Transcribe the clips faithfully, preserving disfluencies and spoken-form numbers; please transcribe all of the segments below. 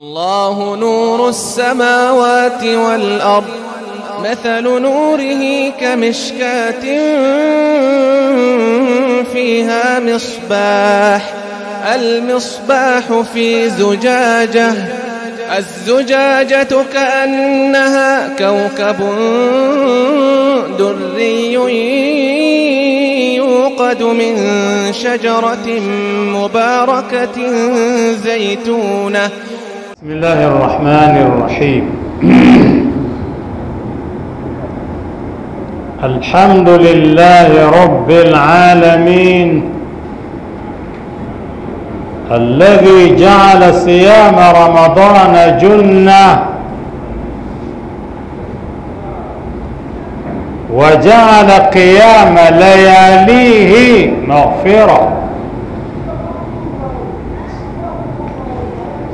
الله نور السماوات والأرض مثل نوره كمشكاة فيها مصباح المصباح في زجاجة الزجاجة كأنها كوكب دري يوقد من شجرة مباركة زيتونة. بسم الله الرحمن الرحيم. الحمد لله رب العالمين الذي جعل صيام رمضان جنة وجعل قيام لياليه مغفرة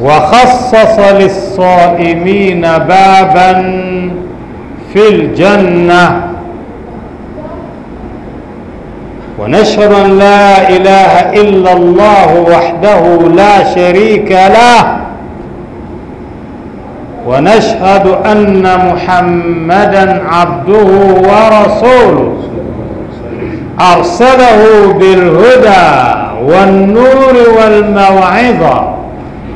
وخصص للصائمين بابا في الجنة. ونشهد أن لا إله إلا الله وحده لا شريك له ونشهد أن محمدا عبده ورسوله أرسله بالهدى والنور والموعظة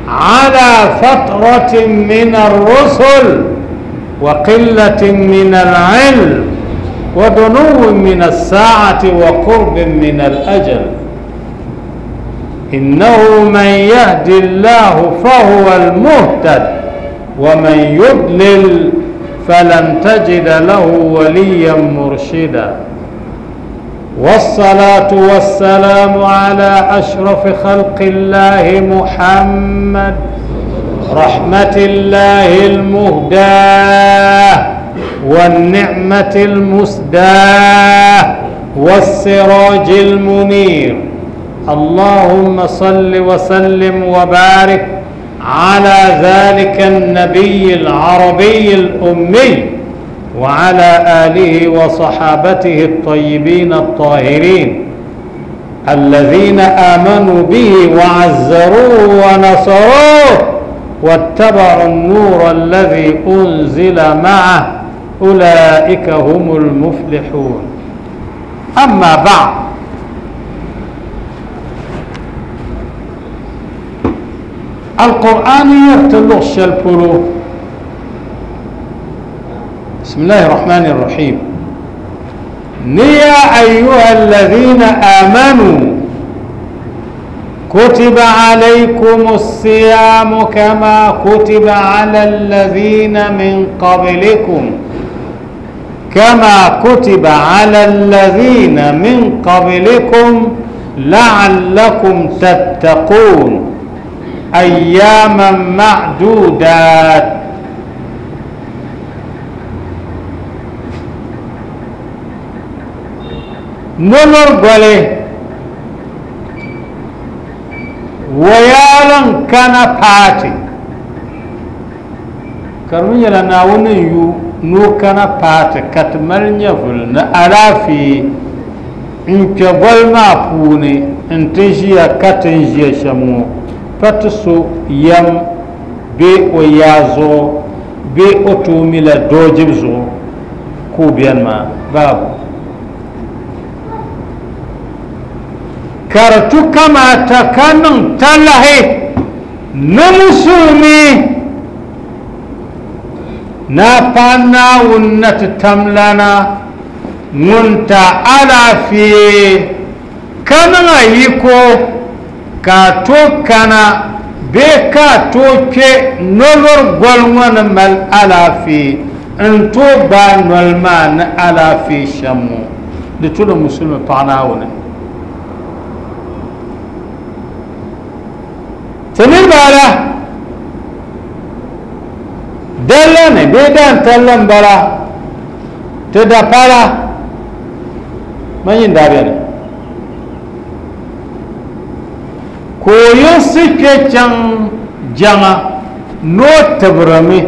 على فترة من الرسل وقلة من العلم ودنو من الساعة وقرب من الأجل. إنه من يهدي الله فهو المهتد ومن يضلل فلن تجد له وليا مرشدا. والصلاة والسلام على أشرف خلق الله محمد رحمة الله المهداة والنعمة المسداة والسراج المنير. اللهم صل وسلم وبارك على ذلك النبي العربي الأمي وعلى آله وصحابته الطيبين الطاهرين الذين آمنوا به وعزروه ونصروه واتبعوا النور الذي أنزل معه أولئك هم المفلحون. أما بعد، القرآن يرتلو الشلبلو. بسم الله الرحمن الرحيم. يا أيها الذين آمنوا كتب عليكم الصيام كما كتب على الذين من قبلكم كما كتب على الذين من قبلكم لعلكم تتقون أياما معدودات. نمر قولي ويالن كان باتي كرمي لنا ونيو نو كان باتي كتمل نفل نألافي انك قول ما فوني انتجيا كتنجيا شمو فتسو يم بي ويازو بي أتومي لدوجبزو كوبيان ما بابو karatu kamata ka niŋ talahi ni musulmi na pa Naawuni na ti tamlana ŋun ta alaafee ka niŋ a yiko ka a tooi kana bee ka a tooi kpe nolori goli ŋɔ ni mali alaafee n tooi gbaai noli maa ni alaafee shɛm ŋɔ di tuli musulmi paɣa Naawuni. Ti niriba ala dalla ni bee daan talli m-bala ti da pala man yin daa beni ka o yiɣisi kpe chaŋ jaŋa ni o tibirimi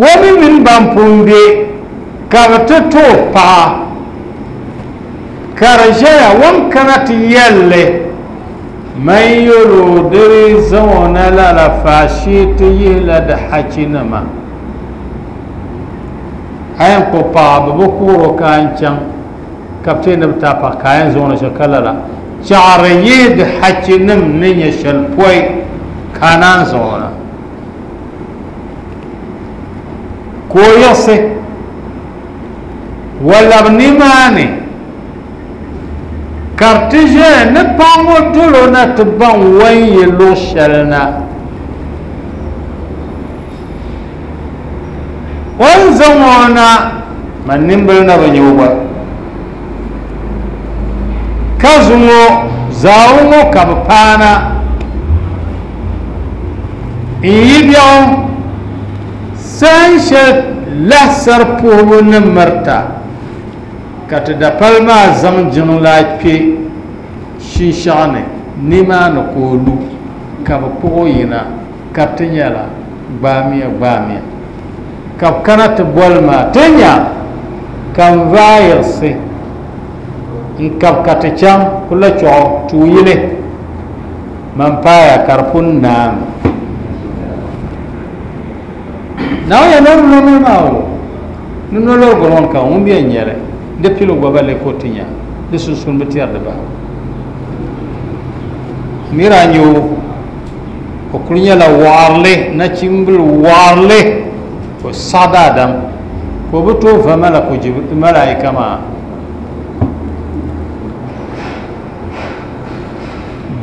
o mi mini ban pun be ka bɛ ti ti o paɣa ka di ʒeya o ni kana ti yɛlli Man yolo diri zaŋ la la faashee ti yihila di hachinima a yɛn kpuɣi paɣa bi bi kuɣuro ka an chaŋ ka bi ti ni bi taai paɣa ka a yɛn zaŋ o na shɛli ka lala chaɣari yihi di hachinim ni nyɛ shɛli pɔi ka a naan zaŋ o na ka o yiɣisi o labi nimaani ka di ti ʒɛya ni paɣa ŋɔ dolo na ti baŋ o ni yi luɣ shɛli na o ni zaŋ o na man nimbili na bi nyɛ o gba ka zuŋɔ zaawu ŋɔ ka bi paana n yi biɛɣu sahan shɛli lahisari puhibu ni mirita ka ti dapali maa zaŋ jiŋlaa kpe shinshaɣu ni nimaani ka o lu ka bi kpuɣi o yina ka ti nyɛla gbaamiya gbaamiya ka bi kana ti boli maa ti nya ka n vaai yiɣisi n kabi ka ti chaŋ kula chuɣu tuuyili man paaya ka di pun naami naawuni yɛn lɔri noli maa o ni nolɔri gɔrɔn ka ŋun bɛ nyɛli di pili gba ba le ka o ti nya di sunsuuni bi tɛri di bahi mira nyɛ o o kuli nyɛla waɣarili nachimbili waɣarili o saɣi daadam ka o bi tooi va malako malaika maa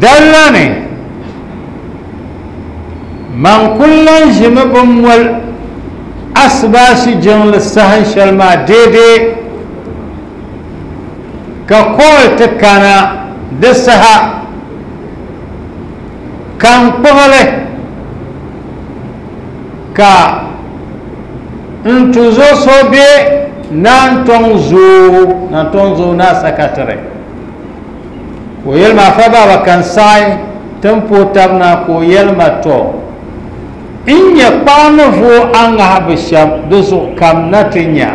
dalla ni man kuli lan ʒimi bin moli asibaasi jiŋli sahan shɛli maa deedee ka kool ti kana di saha ka n kpuɣili ka n tuzo so be Nantɔŋ zoo Nantɔŋ zoo naa sakatiri ka o yɛli ma afa baaba ka n saɣi ti n puhi tabi na ka o yɛli ma tɔ n nyɛ kpaɣa ni vooi a ŋahibu shɛm di zuɣu kam na ti nya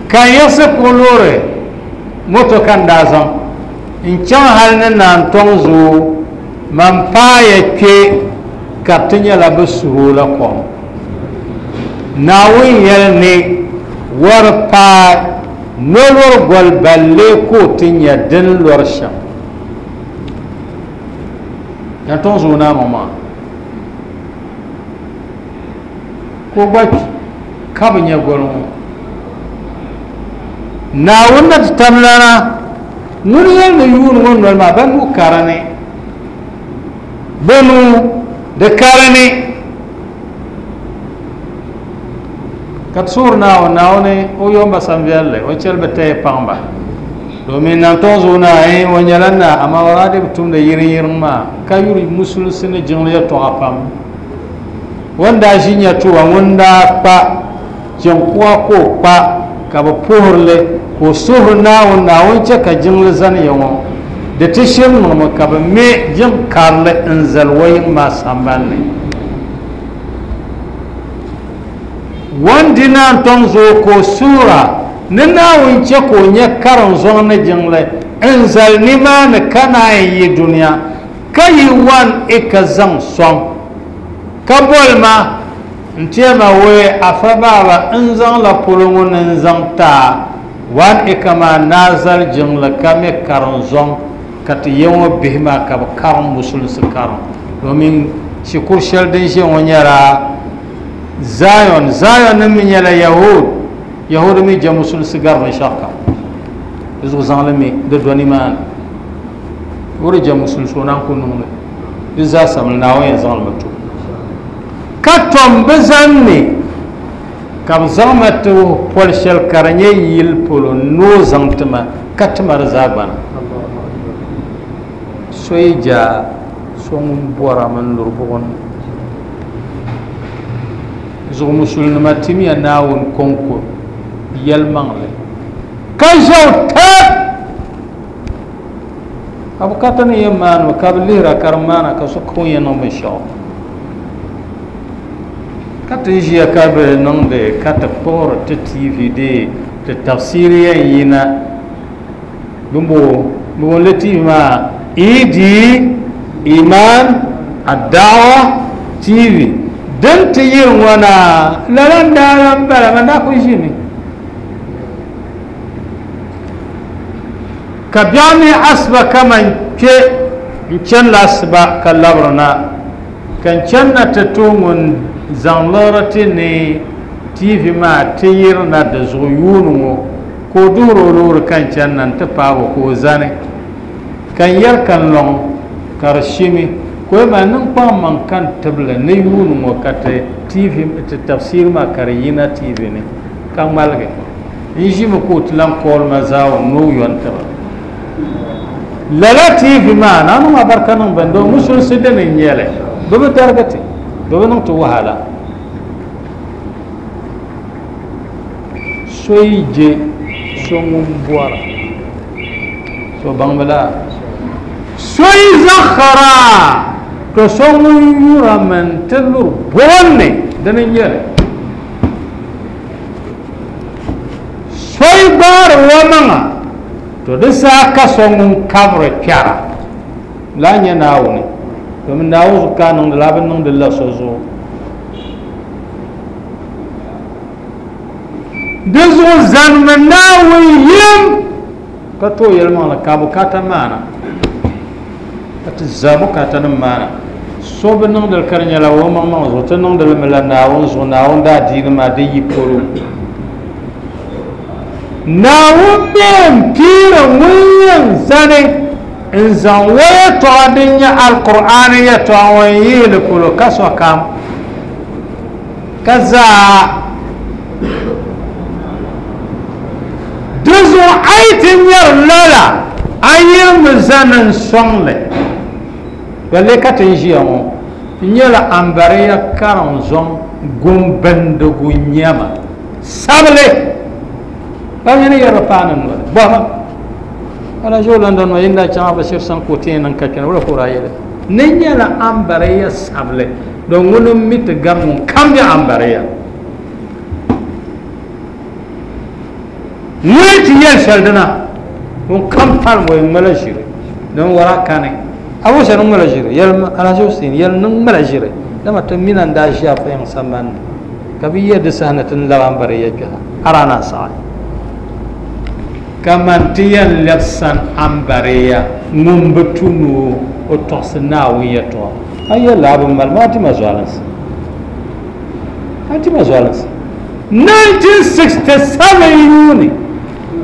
ka n yiɣisi kpuɣi loori moto ka n daa zaŋ n chaŋ hali ni Nantɔŋ zoo man paaya kpe ka ti nyɛla bi suhi o la kom Naawuni yɛli ni wari paai nolori goli ballee ka o ti nya din lɔri shɛm Nantɔŋ zoo naa ŋɔ maa ka o gba kpi ka bi nya goli ŋɔ Naawuni na ti tamlana ŋuni yɛli ni yuuni ŋɔ noli maa ba nuu karini bɛ nuu di karini ka ti suhuri Naawuni Naawuni o yomba sanviɛlli o chɛli bi taya paŋba domin Nantɔŋ zoo naa o nyɛla naa amaa o daa di bi tumdi yiriŋ yiriŋ maa ka yuri musulinsi ni jiŋli yɛltɔɣa pam o ni daa ʒi nya tuwa ŋun daa kpa jiŋkuɣa ka o kpa ka bi puhirili ka o suhuri Naawuni Naawuni chɛ ka jiŋli zani ya ŋɔ di ti shiri niŋmi ka bi me jiŋ karili n zali o yiŋ maa sambanni wan di Nantɔŋ zoo ka o suhura ni Naawuni chɛ ka o nyɛ karim zɔŋ ni jiŋli n zali nimaani ka naan yi duniya ka yi wan i ka zaŋ sɔŋ ka boli ma n tɛma wee afa baaba n zaŋ la polo ŋɔ ni n zaŋ taa wan i ka maa naa zali jiŋli ka me karim zɔŋ ka ti yɛ ŋɔ bihi maa ka bi karim musulinsi karim domin shikuru shɛli din ʒɛ ŋɔ nyɛla Zion Zion nim mi nyɛla Yahud Yahud mi jɛ musulinsi gari binshaɣu kam di zuɣu zaŋli mi di do nimaani o di jɛ musulinsi o naan ku niŋli di zaa samli Naawuni yɛn zaŋli mi to ka tom bi zanni ka bi zaŋ ma ti wuhi poli shɛli ka di nyɛ yili polo ni o zaŋ ti ma ka ti ma di zaa gbana so yi ja so ŋun bɔra mini luri buɣum ni zuɣu musulinima timiya Naawuni kɔŋko yɛlimaŋli ka ʒɛo tab a bukata ni yɛn maani ka bi lihira ka di maana ka so ka o yɛn niŋ binshaɣu ka ti ʒiya ka bi niŋdi ka ti kpuɣiri ti T V dee ti tafsiri yɛn yina bimbo Bi wum T V maa E D Iman Ad-Da'wa T V din ti yiri ŋɔ na lala n daa lan bala man daa kuli ʒimi ka biɛɣu ni asiba kaman kpe n chani la asiba ka labiri na ka n chani na ti to ŋun zaŋ liɣiri ti ni T V maa ti yiri na di zuɣu yuuni ŋɔ ka o duhiri o loori ka n chani na n ti paagi o ka o zani ka n yɛri ka n lɔŋ ka di shimi ka o ma niŋ kpaŋ maŋ ka n tibili ni yuuni ŋɔ ka ti T V ti tafsiri maa ka di yina T V ni ka ŋmaligi n ʒimi ka o ti lan kooli ma zaawuni ni o yɔn tiba lala T V maa na niŋ abarika niŋ bɛn doo musulinsi dini n nyɛli bi bi darigi ti bi bi niŋ ti wahala so yi je so ŋun bɔra so baŋmi la so yi zaɣara to so ŋun yura min ti luri boonni dini n nyɛli so yi gbaari wa maŋa to di saha ka so ŋun kabiri kpɛra laa nyɛ Naawuni domin Naawuni zuɣu ka a niŋdi la a bi niŋdi la so zuɣu di zuɣu zanimi Naawuni yim ka tooi yɛlimaŋli ka bukaata maana ka ti za bukaata nim maana so bi niŋdili ka di nyɛla o maŋmaŋ zuɣu ti niŋdili mi la Naawuni zuɣu Naawuni daadiini maa di yi polo Naawuni mi n piiri ŋun yɛn zani n zaŋ o yɛltɔɣa din nyɛ Alkur'aani yɛltɔɣa ŋɔ n yihili polo ka sokam ka zaa di zuɣu a yi ti nyɛri lala a yirimi zani n sɔŋli balle ka ti n ʒiya ŋɔ n nyɛla ambariya kariŋ zɔŋ gumbindigu nyɛma sabili ba mini yɛri paani noli bɔhima ala ʒi o London ŋɔ yin daa chaŋ Bashir sani ka o ti yɛn niŋ ka kpɛna wula ka o daa yɛli ni nyɛla ambariya sabili don ŋuni n mi ti gari ŋun kam bɛ ambariya ŋuni ti yɛli shɛli dina ŋun kam palim o ŋmala ʒiri don wara kani abu shɛli ŋmala ʒiri yɛli Alhaji Hussein yɛli ni ŋmala ʒiri dama ti mina n daa ʒiya fa yiŋ sambani ni ka bi yɛ di saha ni ti ni labi ambariya kpɛha a daa na saɣi kaman ti yɛn lɛbi san ambariya ŋun bi tu ni o tɔɣisi Naawuni yɛltɔɣa a yɛli a bi mali maa ti ma zualinsi a ti ma zualinsi nineteen sixty seven yuuni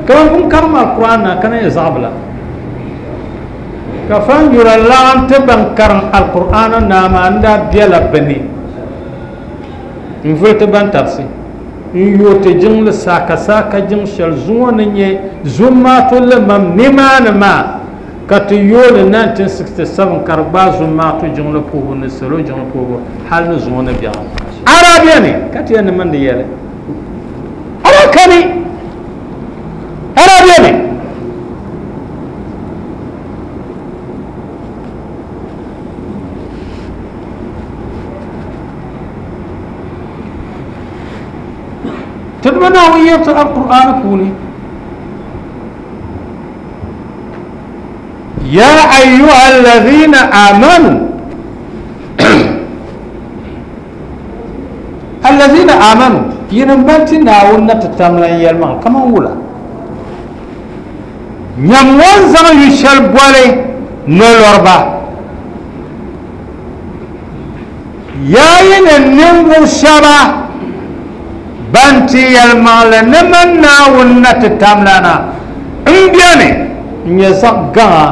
kaman pun karim Alkur'an na kana nyɛ zaɣ bila ka fan yura laɣim ti ban karim Alkur'an naa maa n daa bela bini n vuli ti ban tarisi n yooti jiŋli saaka saaka jiŋ shɛli zuŋɔ ni nyɛ zumaatu limam nimaani maa ka ti yooli nineteen sixty seven ka di gbaai zumaatu jiŋli puhibu ni salo jiŋli puhibu hali ni zuŋɔ ni biɛɣu ara beni ka ti yɛn ni mindi yɛli ara kani ara beni تدمنا ويرت القرآن كوني يا أيها الذين آمنوا الذين آمنوا ينبتي ناونا تتملن يلمان كما ولا نموان زمان يشل بولي نلوربا يا ين شبا banti yɛlimaŋli ni man Naawuni na ti tamlana n beni n nyɛ zaɣ gaŋa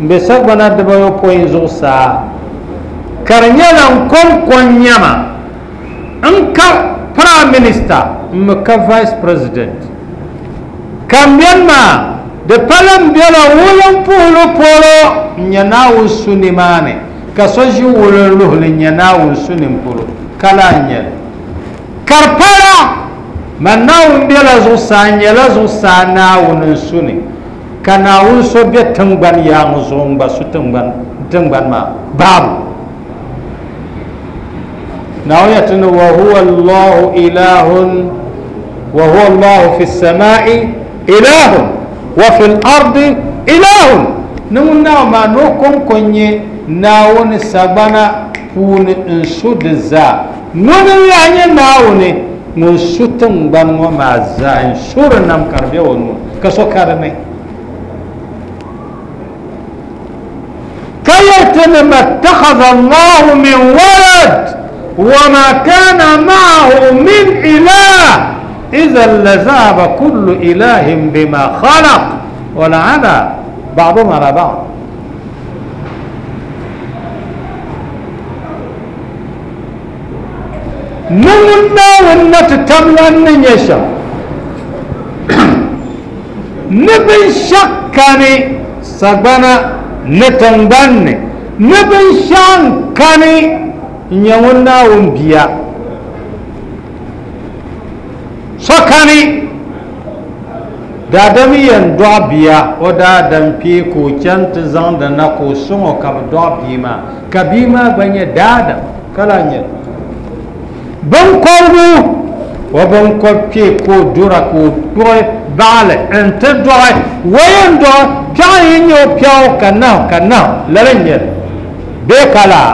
n be sagbana dibayopɔin zuɣusaa ka di nyɛla n kɔŋko n nyɛma n ka prime minister n mi ka vice president ka n beni maa di pala n bela wulim puhili polo n nyɛ Naawuni su nimaani ka so ʒi wulim luhili n nyɛ Naawuni su nim polo ka laa n nyɛli karpala man Naawuni bela zuɣusaa n nyɛla zuɣusaa Naawuni n su ni ka Naawuni so be tiŋgbani yaaŋa zuɣu n gba su tiŋgbani maa baabu Naawuni yɛti ni wa huwa Allahu ilahun wa huwa Allahu fi samai ilahun wa fi l-ardi ilahun ni ŋun naawuni maa ni o kɔŋko n-nyɛ naawuni sagbana puuni n su di zaa ŋuni n-lahi nyɛ naawuni ŋun su tiŋgbani ŋɔ maa zaa n suri nam ka di be o nuu ka so ka di ni ka yɛli ma ittakhadha Allahu min walad wa ma kana ma'ahu min ilah idhan lazahaba kullu ilahin bima khalaq wa la'ala ba'duhum ala ba'd. Ni ŋun naawuni na ti tamlan ni nyɛ shɛm ni binshɛɣu kani sagbana ni tiŋgbani ni binshɛɣu kani n-nyɛ ŋun naawuni bia so kani daadam yɛn dɔɣi bia o daadam kpee ka o chani ti zaŋdi na ka o sɔŋ o ka bi dɔɣi bia maa ka bia maa gba nyɛ daadam ka lahi nyɛ binkɔbigu o binkɔbi kpee ka o dura ka o kpuɣi baɣali n-ti dɔɣi o yɛn dɔɣi piɛɣu yi nyɛ o piɛɣu ka nahu ka nahu lala n-nyɛ li bee ka laa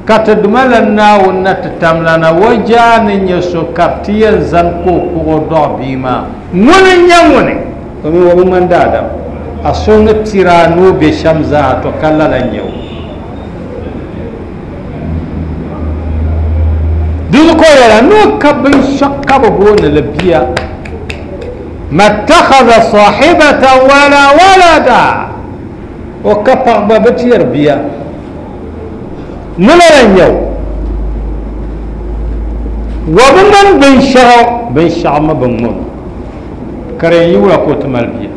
ka ti duma la naawuni na ti tamlana o jaa ni nyɛ so ka ti yɛn zani ka o kpuɣi o dɔɣi bia maa ŋuni n-nyɛ ŋuni o mi o bi ŋmani daadam a so ni tiri a ni o be shɛm zaa to ka lala n-nyɛ o di ko yɛla ni o ka binshɛɣu ka bi booni li bia ma ittakhadha sahibatan wala walada o ka paɣa gba bi ti yɛri bia ni lala n-nyɛ o wa bi ŋmani binshɛɣu binshɛɣu mi bi ŋmani o ka di yɛn yi wula ka o ti mali bia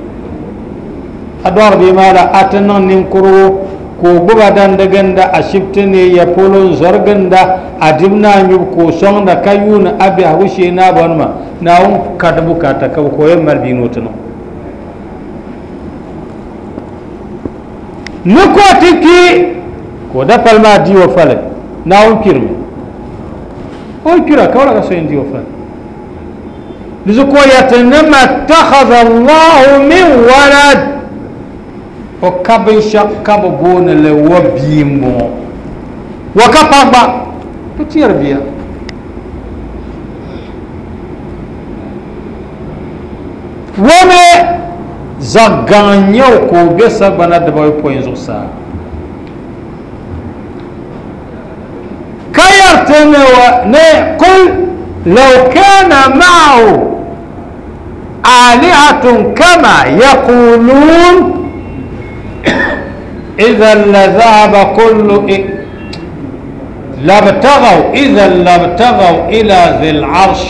a dɔɣiri bia maa la a ti niŋ ninkurigu ka o gbuba dandi ginda ashibiti ni ya polo n-zɔri ginda a dibu naa nyubu ka o sɔŋda ka yuuni a biɛhigu shee naabɔnima naawuni ka di bukaata ka bi ka o yɛn mali bia ni o ti niŋ ni ka o ti kpi ka o dapali maa di o fali naawuni kpirimi o yi kpira ka wala ka so yɛn di o fali di zuɣu ka o yɛriti ni ma ittakhadha Allahu min walad o ka binshɛɣu ka bi booni li wa bia m-bɔŋɔ wa ka paɣa gba bi ti yɛri bia wa mi zaɣ gaŋ n-nyɛ o ka o be sagbana dibaayopɔin zuɣusaa ka yɛriti ni qul law kana ma'ahu alihatun kama yaqulun إذا لذهب كل لابتغوا إذا لابتغوا إلى ذي العرش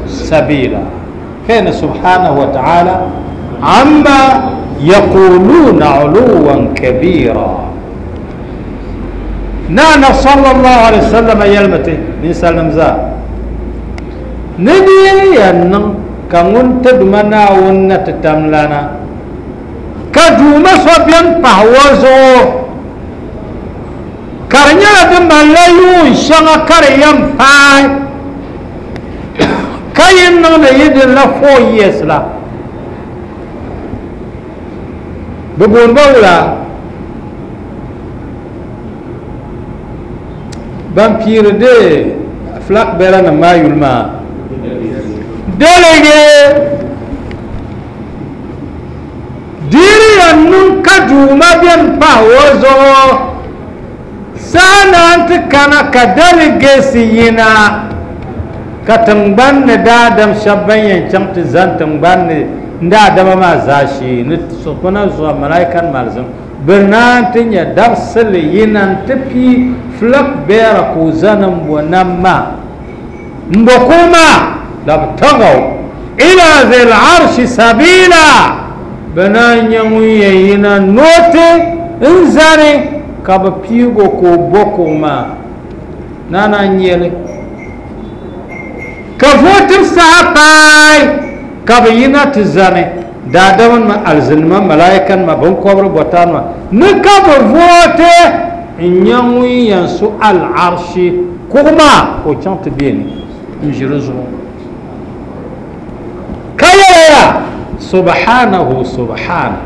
سبيلا كان سبحانه وتعالى عما يقولون علوا كبيرا. نانا صلى الله عليه وسلم يلمته نسلم ذا نبي ينن كون تدمنا ونتتملنا ka duuma so bɛn pahi o zuɣu ka di nyɛla di malila yuun shɛŋa ka di yɛn paai ka yi niŋdi yi din la four years la bi booni ba wula ban piiri de flag bearer nim maa yuli maa delege diri yan niŋ ka duuma bɛn pahi o zuɣu saa naan ti kana ka delegesi yina ka tiŋgbani ni daadam shɛba ban yɛn chaŋ ti zani tiŋgbani ni daadama maa zaashee ni sokpana zuɣu malaikan malizim bɛ naan ti nyɛ dabisili yina n-ti pii flag bearer ka o zani m-bo nam maa m-bo kuɣu maa labtagaw ila zil arshi sabila bɛ naan nyɛ ŋun yɛn yina nooti n zani ka bi piigo ka o bo kuɣu maa naana n-nyɛli ka vootib saha paai ka bi yina ti zani daadamanima alizinima malaikanima binkɔbiri bɔtaanima ni ka bi vooti n-nyɛ ŋun yɛn su al-arshi kuɣu maa ka o chaŋ ti be ni n-ʒi di zuɣu ka yɛlaya Subhanahu subhana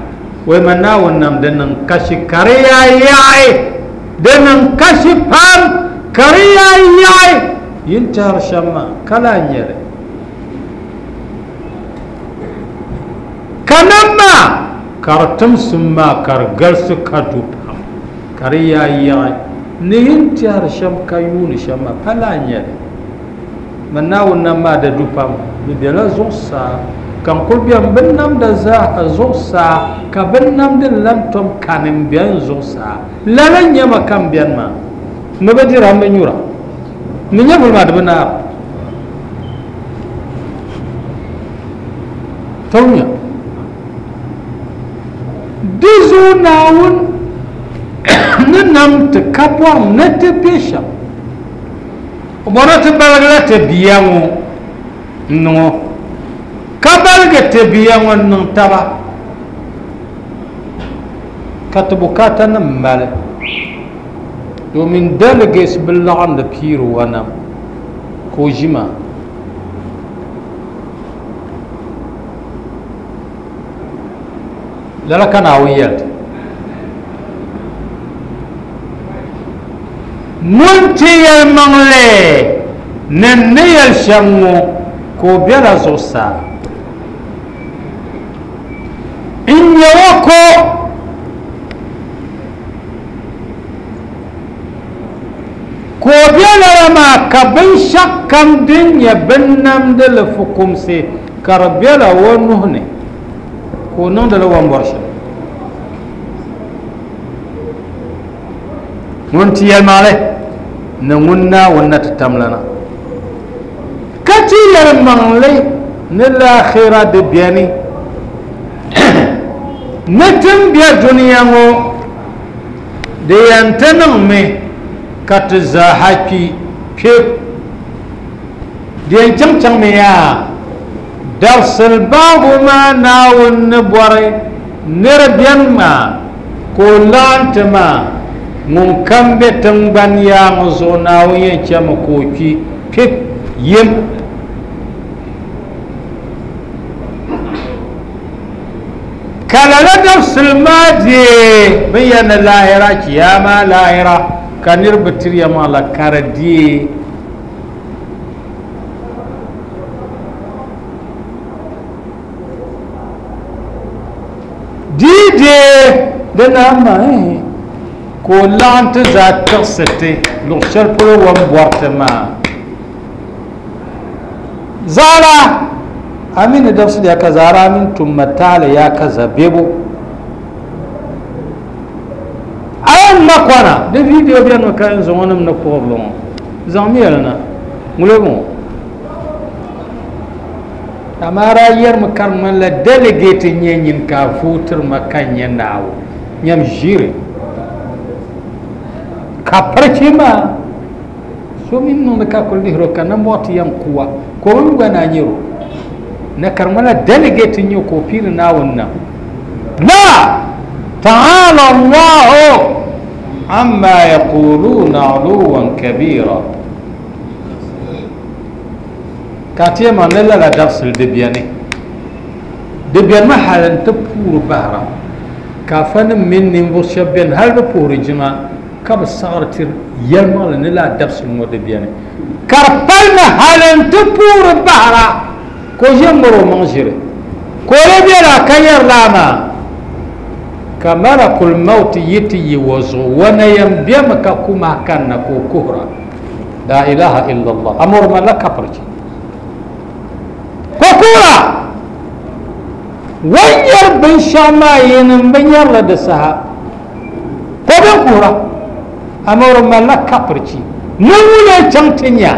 wai ma Naawuni nam di niŋ kashi ka di yaa yaɣi di niŋ kashi pam ka di yaa yaɣi yin tɛhiri shɛm maa ka lahi nyɛli ka nam maa ka di timsim maa ka di galisi ka du pam ka di yaa yaɣi ni yin tɛhiri shɛm ka yuuni shɛm maa pa lahi nyɛli ma Naawuni nam maa di du pam di bela zuɣusaa ka n kuli beni bin namda zaaha zuɣusaa ka bin namdi lan tom kani n beni zuɣusaa lala n nyɛma ka n beni maa mi bi dira n bi nyura mi nyɛvuli maa di bi naara tawunya di zuɣu Naawuni ni nam ti ka bɔri ni ti be shɛm o bɔri ti baligi la ti bia ŋɔ n niŋ o ka baligi ti bia ŋɔ n niŋ taba ka ti bukaata nim mali domin delegates bi laɣindi piiri wa nam ka o ʒi maa lala ka Naawuni yɛli ti ŋun ti yɛlimaŋli ni n ni yɛli shɛm ŋɔ ka o bela zuɣusaa n nyɛ o ko ka o be lala maa ka binshɛɣu kam din nyɛ binnamdili fukumsi ka di bela o nuhi ni ka o niŋdili o ni bɔri shɛm ŋun ti yɛlimaŋli ni ŋun Naawuni na ti tamlana ka ti yɛlimaŋli ni laakhira di beni ni tin be duniya ŋɔ di yɛn ti niŋmi ka ti zaaha kpi kpe di yɛn chaŋ chaŋmi yaa dabisili baabu maa Naawuni ni bɔri niri beni maa ka o laɣim ti maa ŋun kam be tiŋgbani yaa ŋɔ zuɣu Naawuni yɛn chami ka o kpi kpe yim ka lala dabisili maa deei bin yɛn ni lahira kiyama lahira ka niriba tiriya maa la ka di deei dii deei di naan maa ka o laɣim ti zaa tiɣisi ti luɣu shɛli polo o ni bɔri ti maa zaara amini dabisili ya ka zaara amin tumma taali ya ka zabebo a yɛn ŋma kɔna di video beni mi ka yɛn zaŋ o nim ni puɣirili ŋɔ zaŋmi yɛli na ŋulo ŋɔ amaa daa yɛrimi ka di ŋmanila delegate n nyɛ nyin ka a vootiri ma ka n nyɛ Naawuni nyam ʒiri ka pirichi maa so mi niŋdi ka kuli lihiri o ka nambɔɣu ti yɛn kuwa ka o mi gba naa nyɛro na ka di ŋmanila delegate n nyɛ ka o piiri Naawuni nam la ta'ala Allahu amma yaquluna uluwan kabira ka ti yɛn ni lala dabisili di beni di beni mi hali n ti puuri bahira ka afa nim mini ninvuɣu shɛba beni hali bi puhiri jiŋa ka bi saɣari tiri yɛlimaŋli ni laa dabisili ŋɔ di beni ka di palimi hali n ti puuri bahira ka o ʒɛ ŋmari o maŋ ʒiri ka o lee bela ka yɛri laa maa ka malakul mauti yi ti yi o zuɣu wana yɛn bemi ka kuma kanna ka o kuhura la ilaha illallah amor ma la kapirchi ko kuhura wan yɛri binshɛɣu maa yini n bi nyɛrili di saha ko bin kuhura amor ma la kapirchi ni ŋuna chaŋ ti nya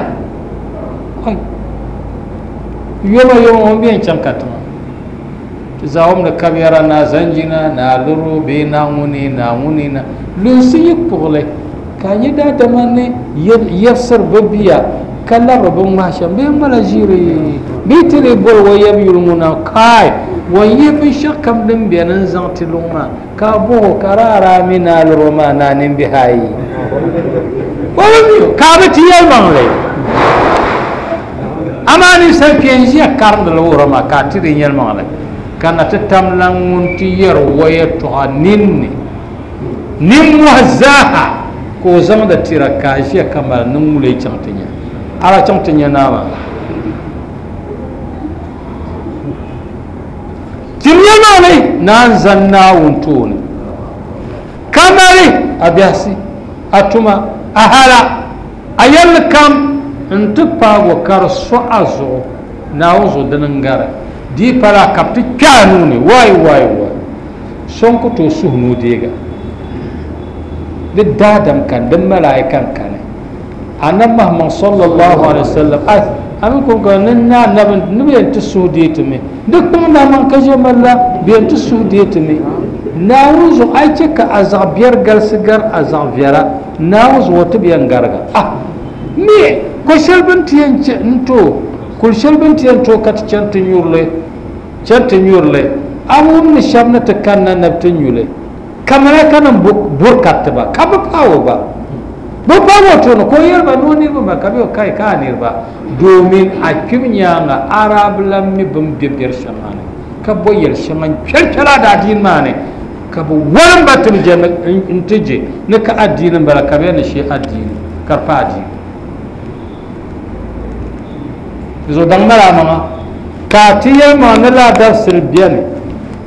yoma yoma ŋun bɛn chaŋ ka tiŋa ti zaawum ni kabɛra na zanjina na luro bee na ŋuni na ŋuni na lunsi yi kpuɣili ka a nyɛ daadama ni yɛbsiri bi bia ka labiri bi ŋmahi shɛm bee ŋmala ʒiiri bee ti lee boli o yɛbi yuli ŋuna kai wan yihi binshɛɣu kam din beni n zaŋ ti luŋ maa ka a bɔh o ka raara mi na luro maa naa nimbihi ayi o bi mi o ka a bi ti yɛlimaŋli amaa ninsal kpee n ʒiya karindili wuhiri maa ka a ti di yɛlimaŋli Ka na ti tam lan ŋun ti yɛri o yɛltɔɣa ninni nimmohi zaaha ka o zaŋdi tira ka a ʒiya ka mali niŋ ŋuli chaŋ ti nya ala chaŋ ti nya naa maa timiya maani naan zan Naawuni tooni ka mali a biɛhisi a tuma a hala a yɛlli kam n ti paago ka di so a zuɣu Naawuni zuɣu dini n gari di pala ka bi ti kpɛ a nuuni waai waai waai so n ku tooi suhu ni o deega di daadam kan di malaika n kani annabi Muhammad sallallahu alaihi wasallam ai amin ko ga nan na annabi ni bi yɛn ti suhu dee ti mi di kpaŋ na man ka ʒe malla bi yɛn ti suhu dee ti mi Naawuni zuɣu a yi chɛ ka a zaɣ biɛri galisi gari a zaɣ viɛla Naawuni zuɣu ti bi yɛn gariga ah mi ko shɛli bin ti yɛn chɛ n to kul shɛli bin ti yɛn to ka ti chɛni ti nyurili chɛni ti nyurili a wum ni shɛba ni ti kanna ni bi ti nyuli ka malaika nim burkariti ba ka bi paai o ba bi paai o tooni ka o yɛli ba ni o niriba ma ka bi o kai ka a niriba domin a kpib nyaanga arab lan mi bin bɛ biɛri shɛŋa ni ka bo yɛli shɛŋa n kpɛli kpɛli a daadiini maa ni ka bi walim ba ti je n ti je ni ka adiini n bala ka bi yɛn ni shee adiini ka di pa adiini zo daŋ mali a maŋa ka ti yɛli maŋa ni laadabsiri biɛni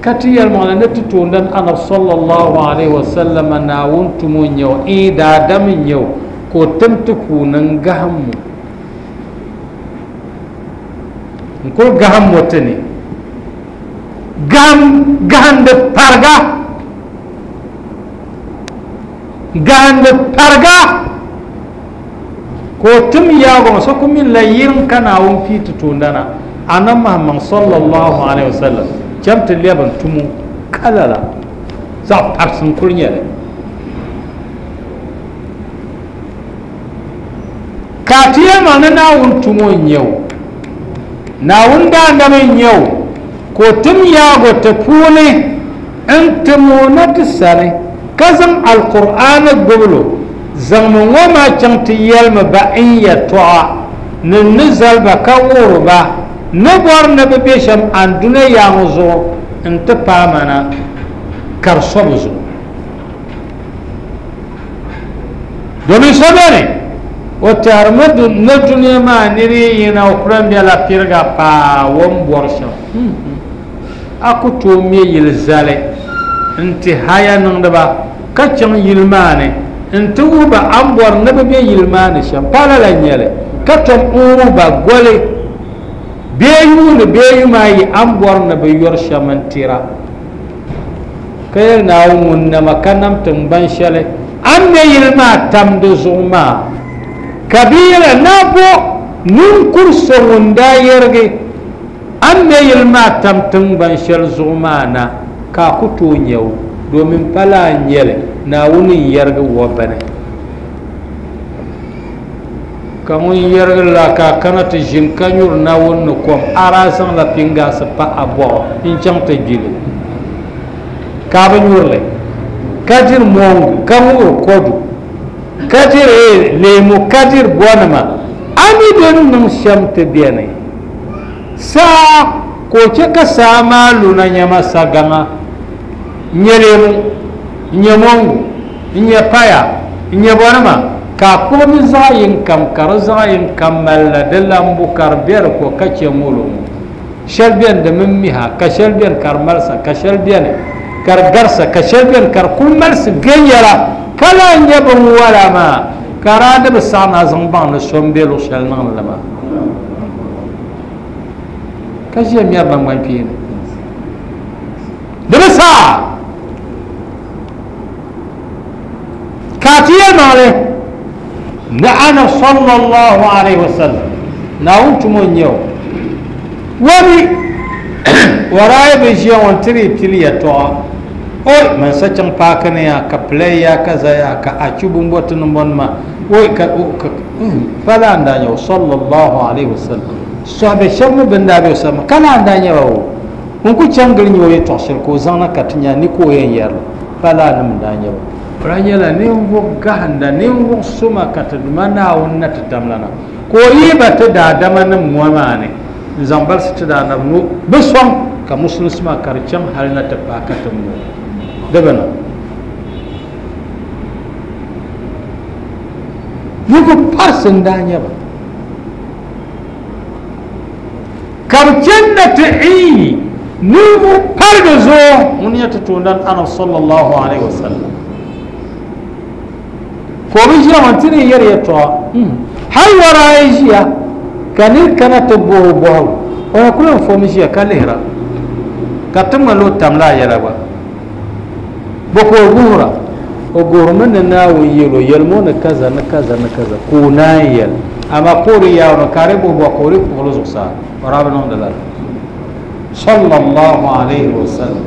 ka ti yɛli maŋa ni ti toondan anab sallallahu alaihi wasallam Naawuni tumo n nyɛ o ee daadam n nyɛ o ka o tim ti puuni n gaham mo n kuli gaham mo ti ni gaham gahandi parga gahandi parga ko tim yaago so ku min la yirin ka Naawuni pii ti toondana annabi Muhammad sallallahu alaihi wasallam cham ti lɛbi n tumo kalala zaɣ parisi n kuli nyɛli ka ti yɛli maa ni Naawuni tumo n nyɛ o Naawuni daadam n nyɛ o ka o tim yaago ti puuni n tim o na ti sani ka zaŋ alqur'aani gbubilo zaŋmi ŋɔ maa chaŋ ti yɛlimi ba n yɛltɔɣa ni ni zali ba ka wuhiri ba ni bɔri ni bi bɛ shɛm anduna yaaŋɔ zuɣu n ti paai mana ka di so bi zuɣu domin so bɛni o tɛhirimi ni duniya maa niri yi yina o kuli bɛla piriga paa o ni bɔri shɛm a ku tooi mɛ yili zali n ti haya niŋdiba ka chaŋ yili maa ni n ti wuhi ba a ni bɔri ni bi bɛ yili maa ni shɛm pa lala n nyɛli ka tom n wuhi ba goli bee yuuni bee yuma ayi a ni bɔri ni bi yɔri shɛm n tira ka yɛli Naawuni ŋun nama ka nam tingbani shɛli a ni mɛ yili maa tam di zuɣu maa ka bi yɛla na bo ninkuri so ŋun daa yɛrigi a ni mɛ yili maa tam tingbani shɛli zuɣu maa na ka a ku tooi nyɛ o domin pa laa n nyɛli Naawuni n yɛrigi wa bini ka ŋun yɛrigi la ka a kana ti ʒini ka nyuri Naawuni ni kom a daa zaŋla pingaasi pa a bɔɣu n chaŋ ti gbili ka a bi nyurili ka diri mongu ka ŋubiri kodu ka diri leemu ka diri bɔnima a mi din niŋ shɛm ti bɛni saa ka o chɛ ka saa maa luna nyɛma sagaŋa n nyɛ leemu n nyɛ mongu n nyɛ paya n nyɛ bɔnima ka a kpuɣi di zaɣ yini kam ka di zaɣ yini kam malila di lambu ka di bɛ di ko ka chɛ ŋolo ŋɔ shɛli bɛni di mini miha ka shɛli bɛni ka di malisa ka shɛli bɛni ka di garisa ka shɛli bɛni ka di kuli malisi viɛnyɛla ka lahi nyɛ binwala maa ka daa di bi saɣa na zaŋ baŋ ni so n bɛ luɣu shɛli niŋdi li maa ka ʒiya mɛri nangbani kpeeni di bi saɣa ka ti yɛli maŋli ni ana sallallahu alaihi wasallam Naawuni tumo n nyɛ o wani warayi bi ʒiya ŋɔ n tiri pili yɛltɔɣa oi man sa chaŋ paaki ni ya ka pilay ya ka zaya ka achu bumbo ti niŋ bɔnima oi ka pa laa n daa nyɛ o sallallahu alaihi wasallam sɔhibe shɛba mi bin daa bɛ o sani ka laa n daa nyɛ ba o ŋun ku chaŋ gili nyɛ o yɛltɔɣa shɛli ka o zaŋna ka ti nya ni ka o yɛn yɛrili pa laa nim n daa nyɛ ba o daa nyɛla ninvuɣ gahinda ninvuɣ suma ka ti duma Naawuni na ti tamlana ka o yihi ba ti daadama nim ŋɔ maa ni n zaŋ balisi ti daanab no bi sɔŋ Ka musulunsi maa ka di chaŋ hali na ti paai ka ti mo di bi niŋ ninvuɣ parisi n daa nyɛ ba ka bi chani na ti iyi ninvuɣ parigi zuɣu ŋun nyɛ ti toondan Annabi sallallahu alaihi wasallam ka o bi ʒiya ŋɔ ti ni yɛri yɛltɔɣa hali wara ayi ʒiya ka niri kana ti boho bɔhigu o na kuli n fom ʒiya ka lihira ka ti ŋmani o tamla a yɛla gba bɔ ka o guhira o guhirimi ni Naawuni yɛl o yɛlimi o ni kaza ni kaza ni kaza ka o naan yɛli amaa ka o di yaari o ka di bohi bɔhi ka o di kpuɣili zuɣusaa o daa bi niŋdi lala sallallahu alaihi wasallam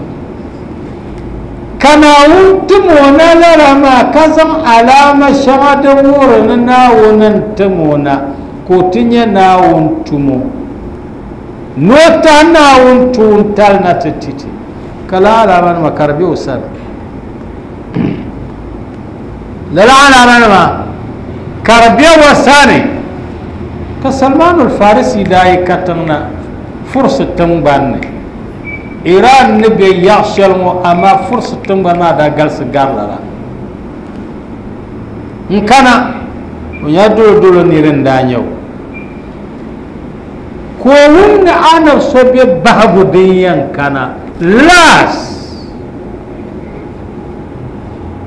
ka Naawuni tim o na lala maa ka zaŋ alaama shɛŋa din wuhiri ni Naawuni n tim o na ka o ti nyɛ Naawuni tumo ni o tahi Naawuni tuuntali na ti titi ka lala alaama nima ka di be o sani lala alaama nima ka di be o sani ka Salman al-Farisi daa yi katiŋ na Fursi tiŋgbani ni Iran ni be yaɣ shɛli ŋɔ amaa Fursi tiŋgbani maa daa galisi gari lala n kana o nyɛla dolodolo nira n daa nyɛ o ka o wum ni Annabi so be bahigu din yɛn kana laas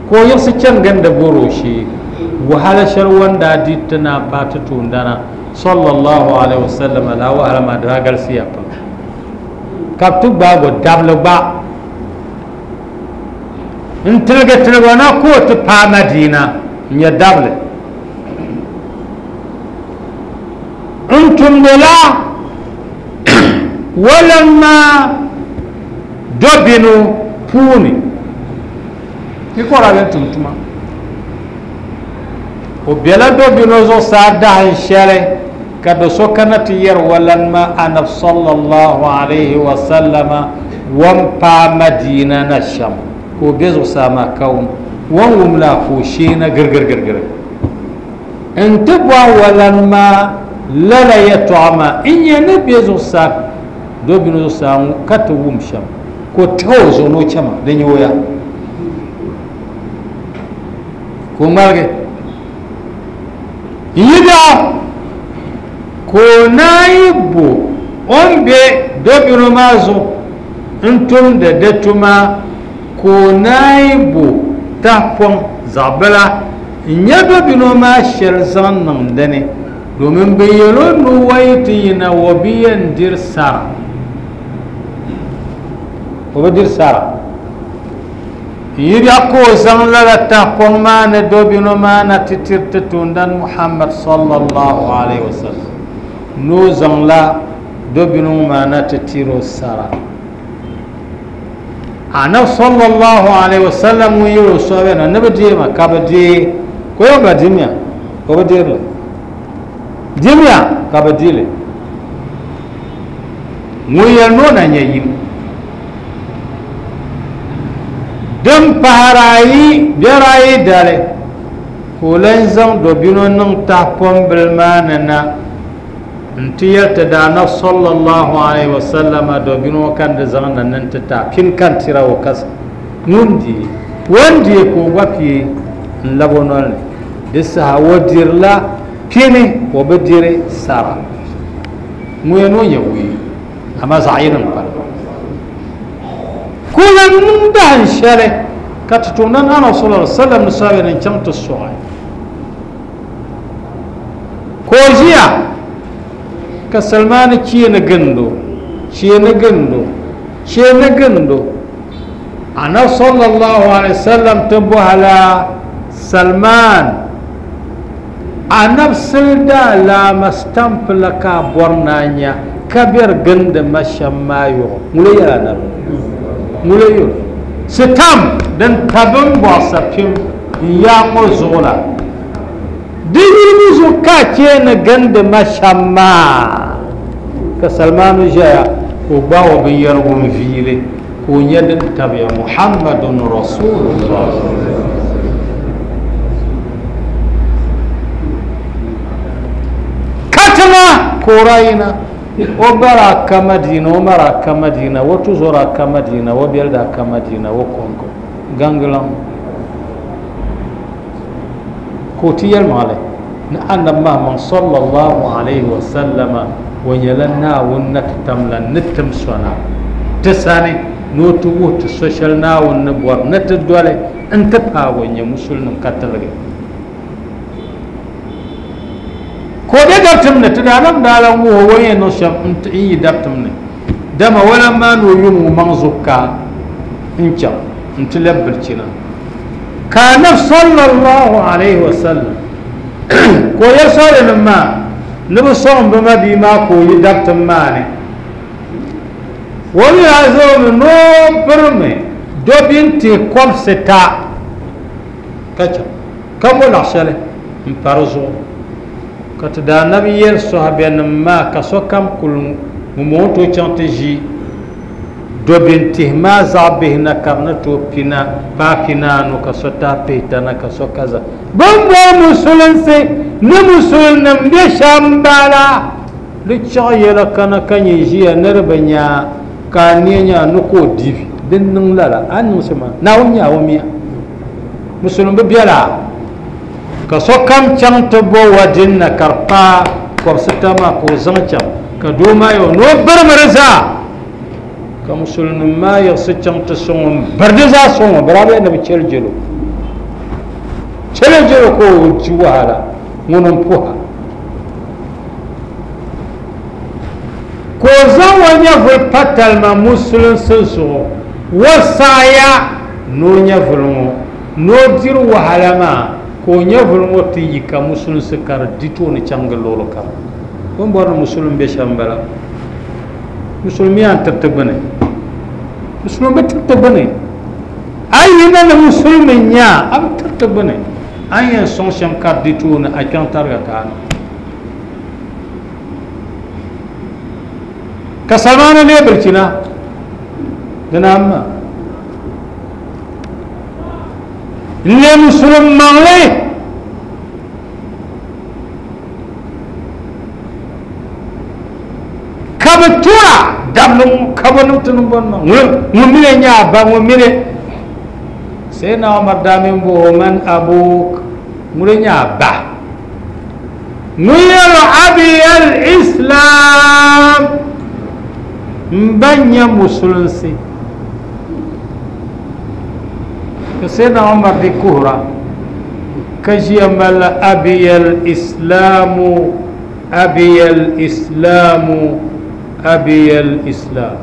ka o yiɣisi chani gindi bori o shee wahala shɛli o ni daa di ti naan paai ti toondana sallallahu alaihi wasallam la wahala maa daa galisiya pam ka bi ti gbaagi o dabili gba n tiligi tiligi o na ka o ti paai Madina n nyɛ dabili n tumdila walan maa dobinu puuni i kɔra bɛ tum tuma o bela dobino zuɣusaa dahin shɛli ka do so kana ti yɛri walan maa Annabi sallallahu alaihi wasallama wan paai Madina na shɛm ka o be zuɣusaa maa ka wum wan wum la ka o shee na girigirigirigiri n ti bɔhi walan maa lala yɛltɔɣa maa n nyɛ ni be zuɣusaa dobino zuɣusaa ka ti wum shɛm ka o tahi o zuɣu ni o chɛma di nyɛ o ya ka o ŋmaligi n yi biɛɣu ka o naan bo o ni be dobino maa zuɣu n tumdi di tuma ka o naan bo tahapɔŋ zaɣ bila n nyɛ dobino maa shɛli zaŋ niŋ dini domin bi yɛl o ni o yi ti yina o bi yɛn diri sara o bi diri sara n yi biɛɣu ka o zaŋ lala tahapɔŋ maa ni dobino maa na ti tiri ti toondan Muhammad sallallahu alaihi wasallam ni o zaŋla dobino maa na ti tiri o sara Annabi sallallahu alaihi wasallam ŋun yɛl o sɔbiya na ni bi deei ma ka bi deei ka o yɛn ba dimiya o bi deeri li dimiya ka bi deeli ŋun yɛli ni o na nyɛ yim din pahari ayi biɛri ayi dali ka o lan zaŋ dobino niŋ tahapɔŋ maa ni na n ti yɛli ti Daanab sallallahu alaihi wasallam dobino kan di zaŋ na ni ti ta pini kan tira o kasi ŋun deei o ni deei ka o gba pii n labi o noli ni di saha o dirila pini o bi diri sara ŋun yɛn ni o nyɛ wuyi amaa zaɣ yini n pali ka o lan niŋ dahin shɛli ka ti toondan Annabi sallallahu alaihi wasallam ni sɔbiya ni n chaŋ ti sɔɣi ka o ʒiya ka Salmani cheeni gindo cheeni gindo cheeni gindo Annabi sallallahu alaihi wasallam ti bɔhila Salman Annabi sili daalaama stamp la ka a bɔri ni a nya ka bɛri gindi ma shɛm maa yɔɣu ŋuni yɛla Annabi ŋuni yɛl sitamp din tabi n bɔɣisa pim n yaa ŋɔ zuɣu la di yilimi zuɣu ka a cheeni gindi ma shɛm maa ka Salmanu ʒɛya ka o gbaai o binyɛrigu n viili ka o nyɛ din tabiya Muhammadun Rasulullah katiŋa ka o rayina O bara ka Madina o mara ka Madina o tuzora ka Madina o belda ka Madina o Kongo gangalam ko ti yelmale na annab Muhammad sallallahu alaihi wa sallama wa yalanna wonna tamla nitim sona tisani no tu wutu social na wonna bor na ti dole in ta pa wanya musulmin katalge ko de dabtum ne ti dalam dalam wo wanya no sham in yi dabtum ne dama wala ma no yumu manzuka in cha in ti labbilcina kana sallallahu alaihi wasallam ko ya sore ma nibi sɔŋ bi ma bia maa ka o yi dabtim maa ni o mi yaa zaŋmi ni o birimi dobin tihi kɔbisi ta ka chaŋ ka bo laɣ shɛli n pa di zuɣu ka ti daanabi yɛli sɔhibiɛnim maa ka sokam kuli ŋun o tooi chaŋ ti ʒi dobin tihi maa zaɣ bihi na ka di ni tooi pina paa pinaanu ka so tahi pihita na ka so kaza bin bori musulinsi ni musulinim be shɛm bala di chaɣ yɛla kana ka nyɛ ʒiya ni di bi nya ka a neei nya ni ka o dibi din niŋ lala a ni niŋ shɛm maa Naawuni nya o miya musulin bi bela ka sokam chaŋ ti bo wadin na ka di paai kɔbisita maa ka o zaŋ chaŋ ka doo maa yɛ o ni o birimi di zaa ka musulinim maa yiɣisi chaŋ ti sɔŋ o n biri di zaa sɔŋ o birabiya ni bi chɛli jɛlo chɛli jɛlo ka o di wahala ŋuni n puha ka o zaŋ o nyɛvuli pa talima musulinsi zuɣu o saɣaya ni o nyɛvuli ŋɔ ni o diri wahala maa ka o nyɛvuli ŋɔ ti yi ka musulinsi ka di di tooni chaŋ gili luɣuli kam bin bɔri ni musulin be shɛm bala musulmi yaa tiriti gbuni musulmi bi tiriti gbuni a yi na ni musulmi nya a bi tiriti gbuni an yɛn sɔŋ shɛm ka di tooni a kpɛŋ tariga kaani ka Salmaana lee bilchina dina amma n lee musulum maŋli ka bi tura dabli ŋɔ ka bi niŋ ti niŋ bɔni maa ŋun mini nyɛ a ba ŋun mini Sayyidina Umar daa min bo man abuk ŋuni nyɛ a ba ŋun yɛli abi al-islam n ba nyɛ musulinsi ka Sayyidina Umar di kuhura ka ʒiya mali abi al-islamu abi al-islamu abi al-islam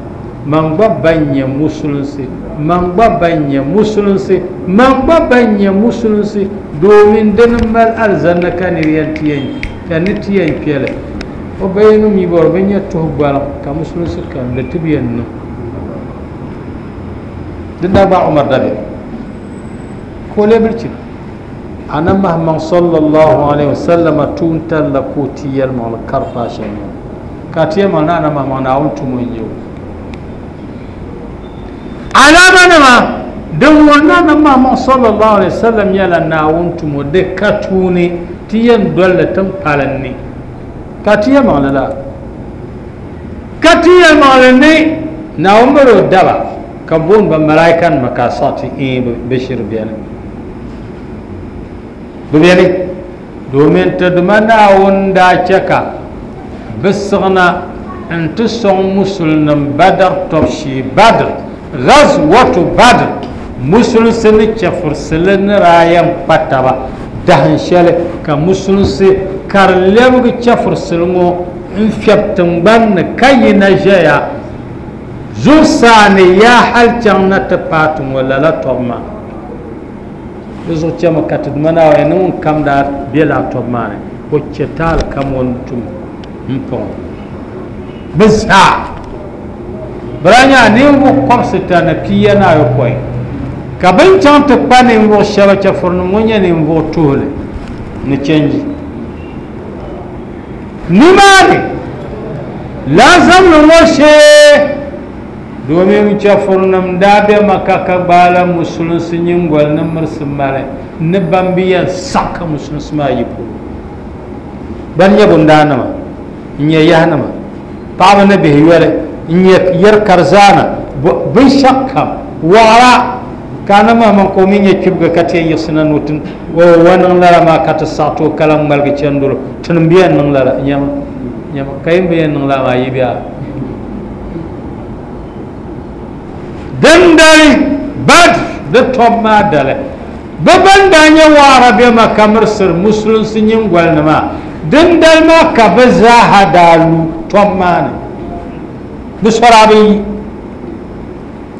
man gba ban nyɛ musulinsi man gba ban nyɛ musulinsi man gba ban nyɛ musulinsi domin dini mali alizanna ka ni yɛn ti yɛn ka ni ti yɛn kpɛli o bayinu mi bɔri bi nyɛ tuhi gbaliŋ ka musulinsi kam di ti bi yɛn niŋ din daa gbaai Umar dabiɛm ka o lee bilichina annabi Muhammad sallallahu alaihi wasallam tuuntal la ka o ti yɛlimaŋli kari paai shɛm maa ka ti yɛlimaŋli ni annabi Muhammad Naawuni tumo n-nyɛ o alama nima din wuhi ni annabi Muhammad sallallahu alaihi wasallam nyɛla Naawuni tumo di ka tuuni ti yɛn dolli tiŋ palin ni ka ti yɛlimaŋli la ka ti yɛlimaŋli ni Naawuni mali o daba ka booni ba malaika nima ka a saɣi ti ee bi shiri beni bi beni domin ti duma Naawuni daa chɛ ka bi siɣina n ti sɔŋ musulinim Badr tɔbu shee Badr ghazwatu Badr musulinsi ni chɛfurisili ni daa yɛn kpa taba dahin shɛli ka musulinsi ka di lɛbigi chɛfurisili ŋɔ n fiɛbi tingbani ni ka yina ʒɛya zuɣusaa ni yaa hali chaŋ na ti paati ŋɔ lala tɔbu maa di zuɣu chɛmi ka ti duma Naawuni ni ŋun kam daa be lala tɔbu maa ni o chɛ taali kam o ni tum n paŋ bi zaa bira nya ninvuɣu kɔbisita ni pia ni ayopɔin ka bin chaŋ ti kpa ninvuɣu shɛba chɛfurinim ŋɔ nyɛ ninvuɣu tuhili ni chɛnji nimaani laazamli ŋɔ shee domin chɛfurinim daa be Maka ka gbaala musulinsi nyingoli ni mirisi mali ni ban bi yɛn saɣi ka musulinsi maa yi polo ban nyɛ bundaanima n nyɛ yahanima Paɣaba ni bihi yoli n nyɛ yɛri karizana binshɛɣu kam waɣara ka ana maa man ka o mi nyɛ kpibigi ka ti yɛn yiɣisi na ni o ti wa niŋ lala maa ka ti saɣati o ka lan ŋmaligi chɛndolo tini n bi yɛn niŋ lala nyɛma nyɛma ka yin bi yɛn niŋ lala maa yi biɛha dindali Badr di tɔb maa dali bi ban daa nyɛ waɣara bɛ Maka mirisiri musulinsi nyingoli ni maa dindali maa ka bi zaaha daa lu tɔb maa ni bi sɔra bi yi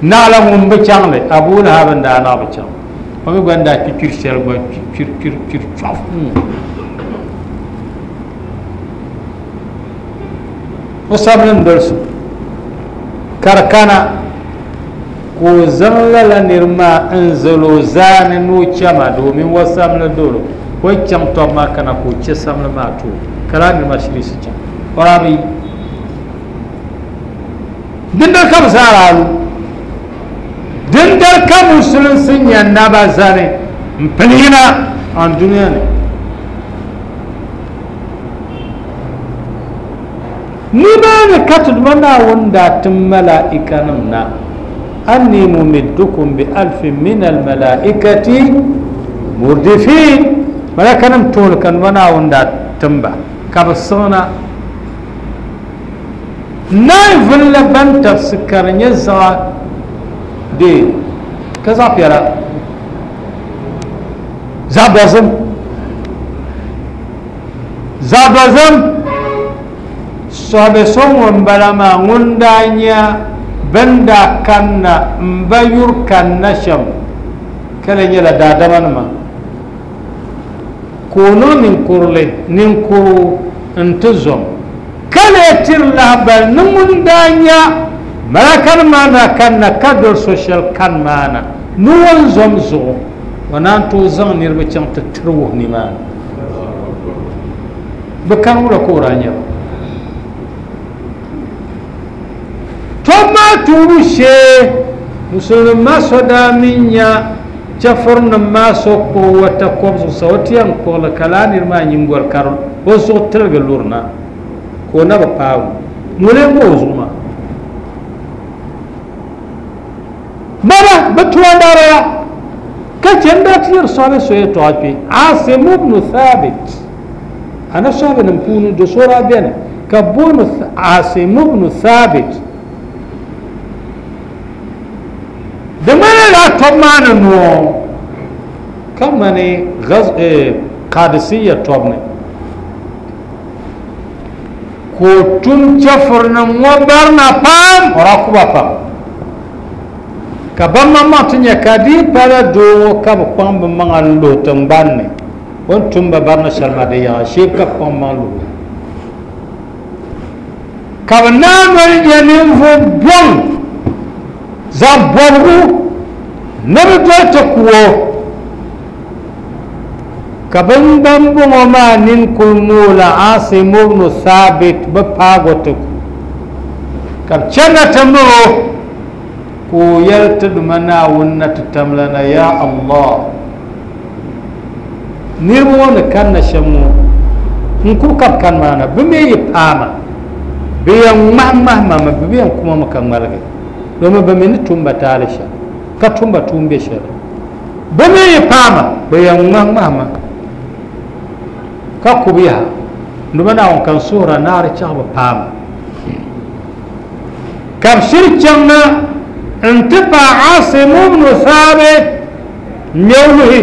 naɣila ŋun bi chaŋli Abu Lahab n daa naɣ bi chaŋ o mi gba n daa kpikpiri shɛli gba kpiri kpiri kpiri chɔfu o sabili n dolisi ka di kana ka o zaŋ lala niri maa n zali o zaani ni o chɛma domin o samli dolo o yi chaŋ tɔbu maa kana ka o chɛ samli maa ti o ka laa niri maa shirisi chaŋ o daa bi yi dindali ka bi zaa daa lu dindali ka musulinsi nyɛ naba zani n pili yina an duniya ni nimaani ka ti Duuma Naawuni daa tim malaikanim na anni mumiddukum bi alfin min almalaikati murdifin malakanim tooni ka Duuma Naawuni daa timba ka bi siɣina naai vulli ban tabisi ka di nyɛ zaɣa dee ka zaɣ piɛla zaɣ dozim zaɣ dozim sɔhibe so ŋun bala maa ŋun daa nya bin daa kanna n ba yuri kanna shɛm ka le nyɛla daadama nima ka o niŋ ninkurili ninkuru n ti zom ka le tiri lahabali ni ŋun daa nya malakanima maa daa kanna ka doli so shɛli kani maa na ni o ni zom zuɣu o naan tooi zaŋ niriba chaŋ ti tiri wuhi nimaani bi kani wula ka o daa nyɛ ba tɔbu maa tuubu shee musulin maa so daa min nya chɛfurinim maa so kpuɣi o takɔbi zuɣusaa o ti yɛn kpuɣili ka laa niri maa nyingoli ka o zuɣu tiligi luri na ka o na bi paagu ŋuni n ŋɔ o zuɣu maa baba bi tuwa ka chɛn daa ti yɛri sɔhibe so yɛltɔɣa kpe Asim ibn Thabit ana sɔhibe nim puuni do so daa bɛni ka booni Asim ibn Thabit di ŋmanila tɔbu maa ni noo ka ŋmani Qadisiyya tɔbu ni ka o tum chɛfurinim ŋɔ barina pam o daa ku ba pam ka ban maŋmaŋ ti nyɛ ka di pala doo ŋɔ ka bi kpaŋ bi maŋa n luhi tingbani ni o ni tum ba barina shɛli maa di yaɣa shee ka bi kpaŋ maŋ luhi ka bi naa noli nyɛ ninvuɣu bɔŋ zaɣ bɔbigu ni bi doli ti ku o ka bin bɔŋɔ maa nini kuli moola Asim ibn Thabit bi paago ti ku ka bi chɛna ti miri o ka o yɛli ti Duuma Naawuni na ti tamlana ya Allah niriba ŋɔ ni kanna shɛm ŋɔ n ku ka bi kani maa na bi mi yi paama bi yɛn ŋmahi ŋmahi ma mi bi yɛn kuma mi ka ŋmaligi domin bi mi ni tumba taali shɛli ka tumba tuun bɛ shɛli bi mi yi paama bi yɛn ŋmahi ŋmahi ma ka kubi yaha Duuma Naawuni ka n suhura naari chaɣ bi paama ka bi shiri chaŋ na n ti paai Asim ibn Thabit ŋmɛ luhi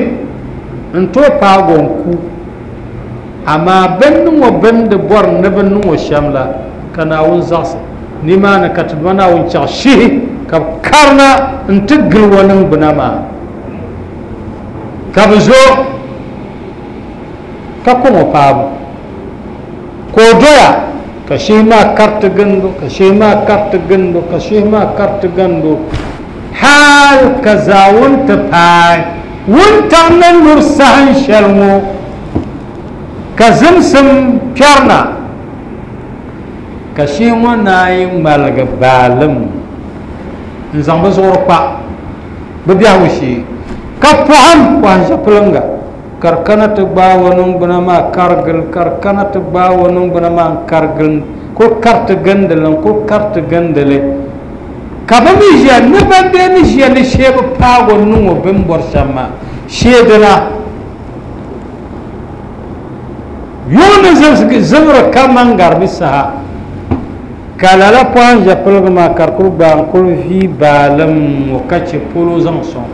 n tooi paago n ku amaa bin niŋ o bindi bɔri ni bi niŋ o shɛm la ka Naawuni zaɣisi nimaani ka ti Duuma Naawuni chaɣ shihi ka bi karina n ti gili o niŋgbuna maa ka bi zo ka kɔŋ o paabu ka o doya ka shihi maa kariti gindo ka shihi maa kariti gindo ka shihi maa kariti gindo hal ka zaawuni ti paai wuntaŋ ni luri sahin shɛli ŋɔ ka zimsim kpɛrina ka shihi ŋɔ naayi ŋmaligi baalim n zaŋ bi zuɣuri kpa bi biɛhigu shee ka pɔhim pɔhim ʒɛpulinga ka di kana ti gbaai o niŋgbuna maa karigili ka di kana ti gbaai o niŋgbuna maa n karigili Ko karti gindili ko karti gindili ka bi mi ʒiya ni ban bee ni ʒiya ni sheebi paago niŋ o bin bɔri shɛm maa sheedina yuŋ ni zibiri kaman garibi saha ka lala pɔhim ʒe piligi maa ka di kuli gbaai n kuli vii baalim o ka che polo zaŋ sɔŋ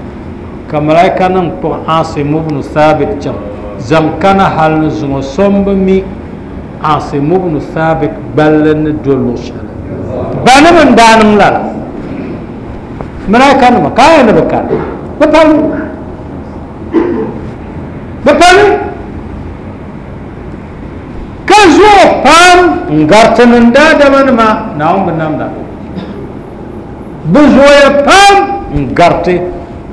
ka malaika nim kpuɣi Asim ibn Thabit chaŋ zaŋ kana hali ni zuŋɔ so n bi mi Asim ibn Thabit gballi ni do luɣ shɛli ba ni bin daa niŋ lala malaika nima ka a yɛn ni bi kani bi pali bi pali ka zuɣu pam n gariti nin daadama nima Naawuni bi namda bi zooya pam n gariti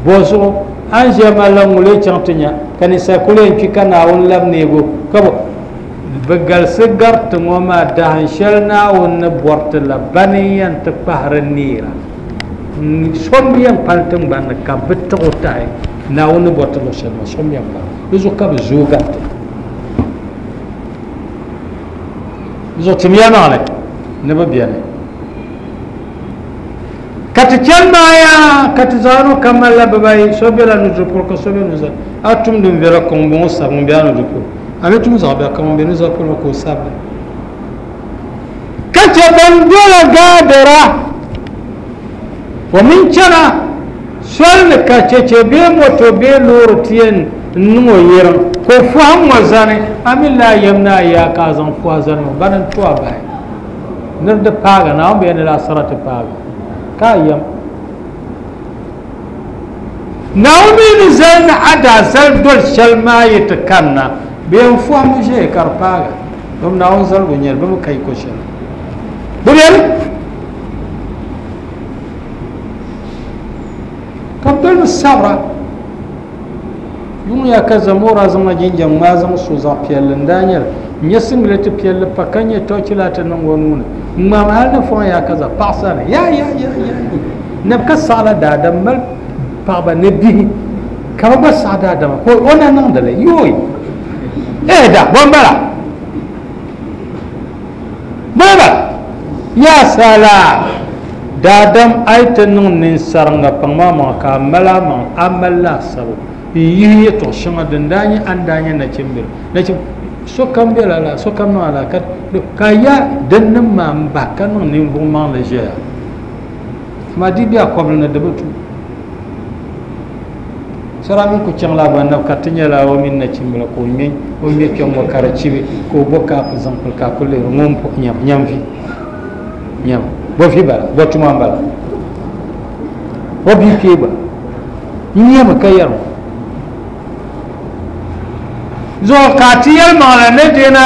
bo zuɣu an ʒiya malila ŋuli chaŋ ti nya ka ninsal kuli yɛn kpi ka Naawuni labi neego ka bi galisi gariti ŋɔ maa dahin shɛli Naawuni ni bɔriti la bani n yɛn ti kpahiri neera so n bi yɛn pali tingbani ni ka bi tiɣi o tahi Naawuni ni bɔriti luɣu shɛli maa so n bi yɛn pali di zuɣu ka bi zooi gariti di zuɣu timiya maŋli ni bi bɛni ka ti chani maaya ka ti zaŋ ka malila bibayi so bela nudiri polo ka so be nuzaa a tum din viɛla ka ŋun bɔŋɔ sabi ŋun be a nudiri polo a mi tum zaɣ biɛɣu ka ŋun be nuzaa polo ka o sabili ka che ban dola gaadira o min chana soli ni ka cheche bee moto bee loori ti yɛn niŋ o yɛrim ka o fɔhim ŋɔ zani a mi laa yɛm ni a yaa ka a zaŋ fɔhi zani ŋɔ bani n to a bahi ni di paaga Naawuni bɛ ni la asara ti paaga ka yɛm Naawuni ni zali ni a daa zali doli shɛli maa yi ti kanna bɛ yɛn fɔhimi ʒɛya ka di paaga bɛ Naawuni zaligu n nyɛli bɛ mi ka yiko shɛli bi bɛni ka bi dolimi sabira yuŋ yaa ka Zamora zaŋla jinjam ŋmaa zaŋ so zaɣ piɛlli n daa nyɛli n nyɛ singileti piɛlli pa ka nyɛ tɔchilati niŋ o nuuni n ŋmaami hali ni fɔŋ yaa ka za paɣa sani ya ya ya ya nabi ka saɣala daadam mali paɣaba ni bihi ka bi gba saɣa daadama ka o na niŋdili yooyi eh da bon bala bala ya sala daadam a yi ti niŋ ninsariŋa paŋ maa maŋa ka a mali a maŋa a mali laasabu n yihi yɛltɔɣa shɛŋa din daa nyɛ an daa nyɛ nachimbila nachim sokam bela la sokam niŋ ala ka ka ya din nim maa n bahi ka niŋ ninvuɣu maŋli ʒɛya amaa di bɛ a kɔbili ni di bi tu sara min ku chaŋ la gba ka ti nyɛla o mini nachimbila ka o ŋmɛ o ŋmɛ kpɛŋ ŋɔ ka di chibi ka o bo kaapu zaŋ pili ka a ku lihiri ŋun nyam nyam vi nyam bo vi bala bo tuma n bala o bia kpee gba n nyɛmi ka yɛri zuɣu ka ti yɛlimaŋli ni dina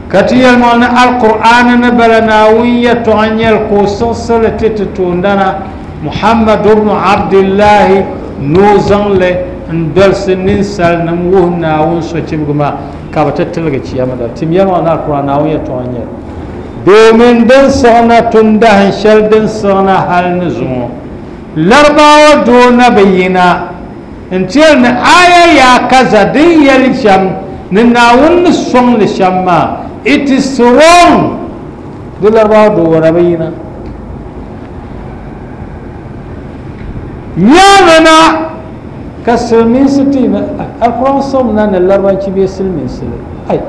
ka ti yɛlimaŋli ni alqur'ani ni bala Naawuni yɛltɔɣa nyɛli ka o siɣisili ti ti toondana Muhammad ibn Abdillahi ni o zaŋli n dolisi ninsalinima wuhi Naawuni sochibigi maa ka bi ti tiligi chiyama dali tim yɛlimaŋli ni alqur'an Naawuni yɛltɔɣa nyɛli domin din siɣina tun dahin shɛli din siɣina hali ni zuŋɔ Larabawa doo na bi yina n tiyɛli ni aya yaa kaza din yɛli shɛm ni Naawuni ni sɔŋli shɛm maa it is wrong di Larabawa doo na bi yina nyaanga na ka silimiinsi ti alquran sɔŋ na ni larabanchi bee silimiinsi li ai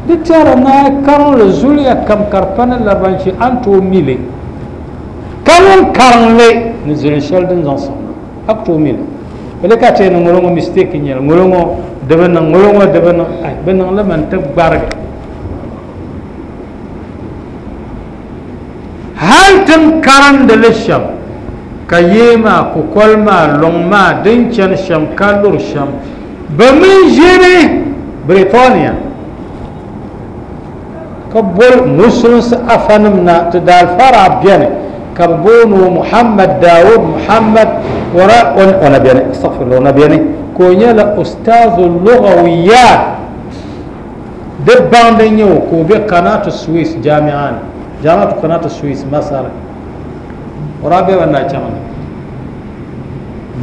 di tɛra na karinli zuliya kam ka di pa ni larabanchi a ni tooi mi li ka ŋun karinli ni zilin shɛli din zaŋ sɔŋ na a ku tooi mi li bele ka ti ni ŋolo ŋɔ mistake nyɛli ŋolo ŋɔ di bi niŋ ŋolo ŋɔ di bi niŋ ai bi niŋli mi n-ti gbarigi hali tin karindi li shɛm ka yee maa kukoli maa luŋ maa din chani shɛm ka luri shɛm bi min ʒini Britania ka boli musulinsi afanim na ti daalfara bɛni ka bi booni o Muhammad Dawud Muhammad wara ona bɛni astaghfirullah ona bɛni ka o nyɛla ustaazu lugawiyat di baŋdi nyɛ o ka o be Kanatu Swiss jami'a ni jami'atu Kanatu Swiss Masar o daa be ba na chaŋ ni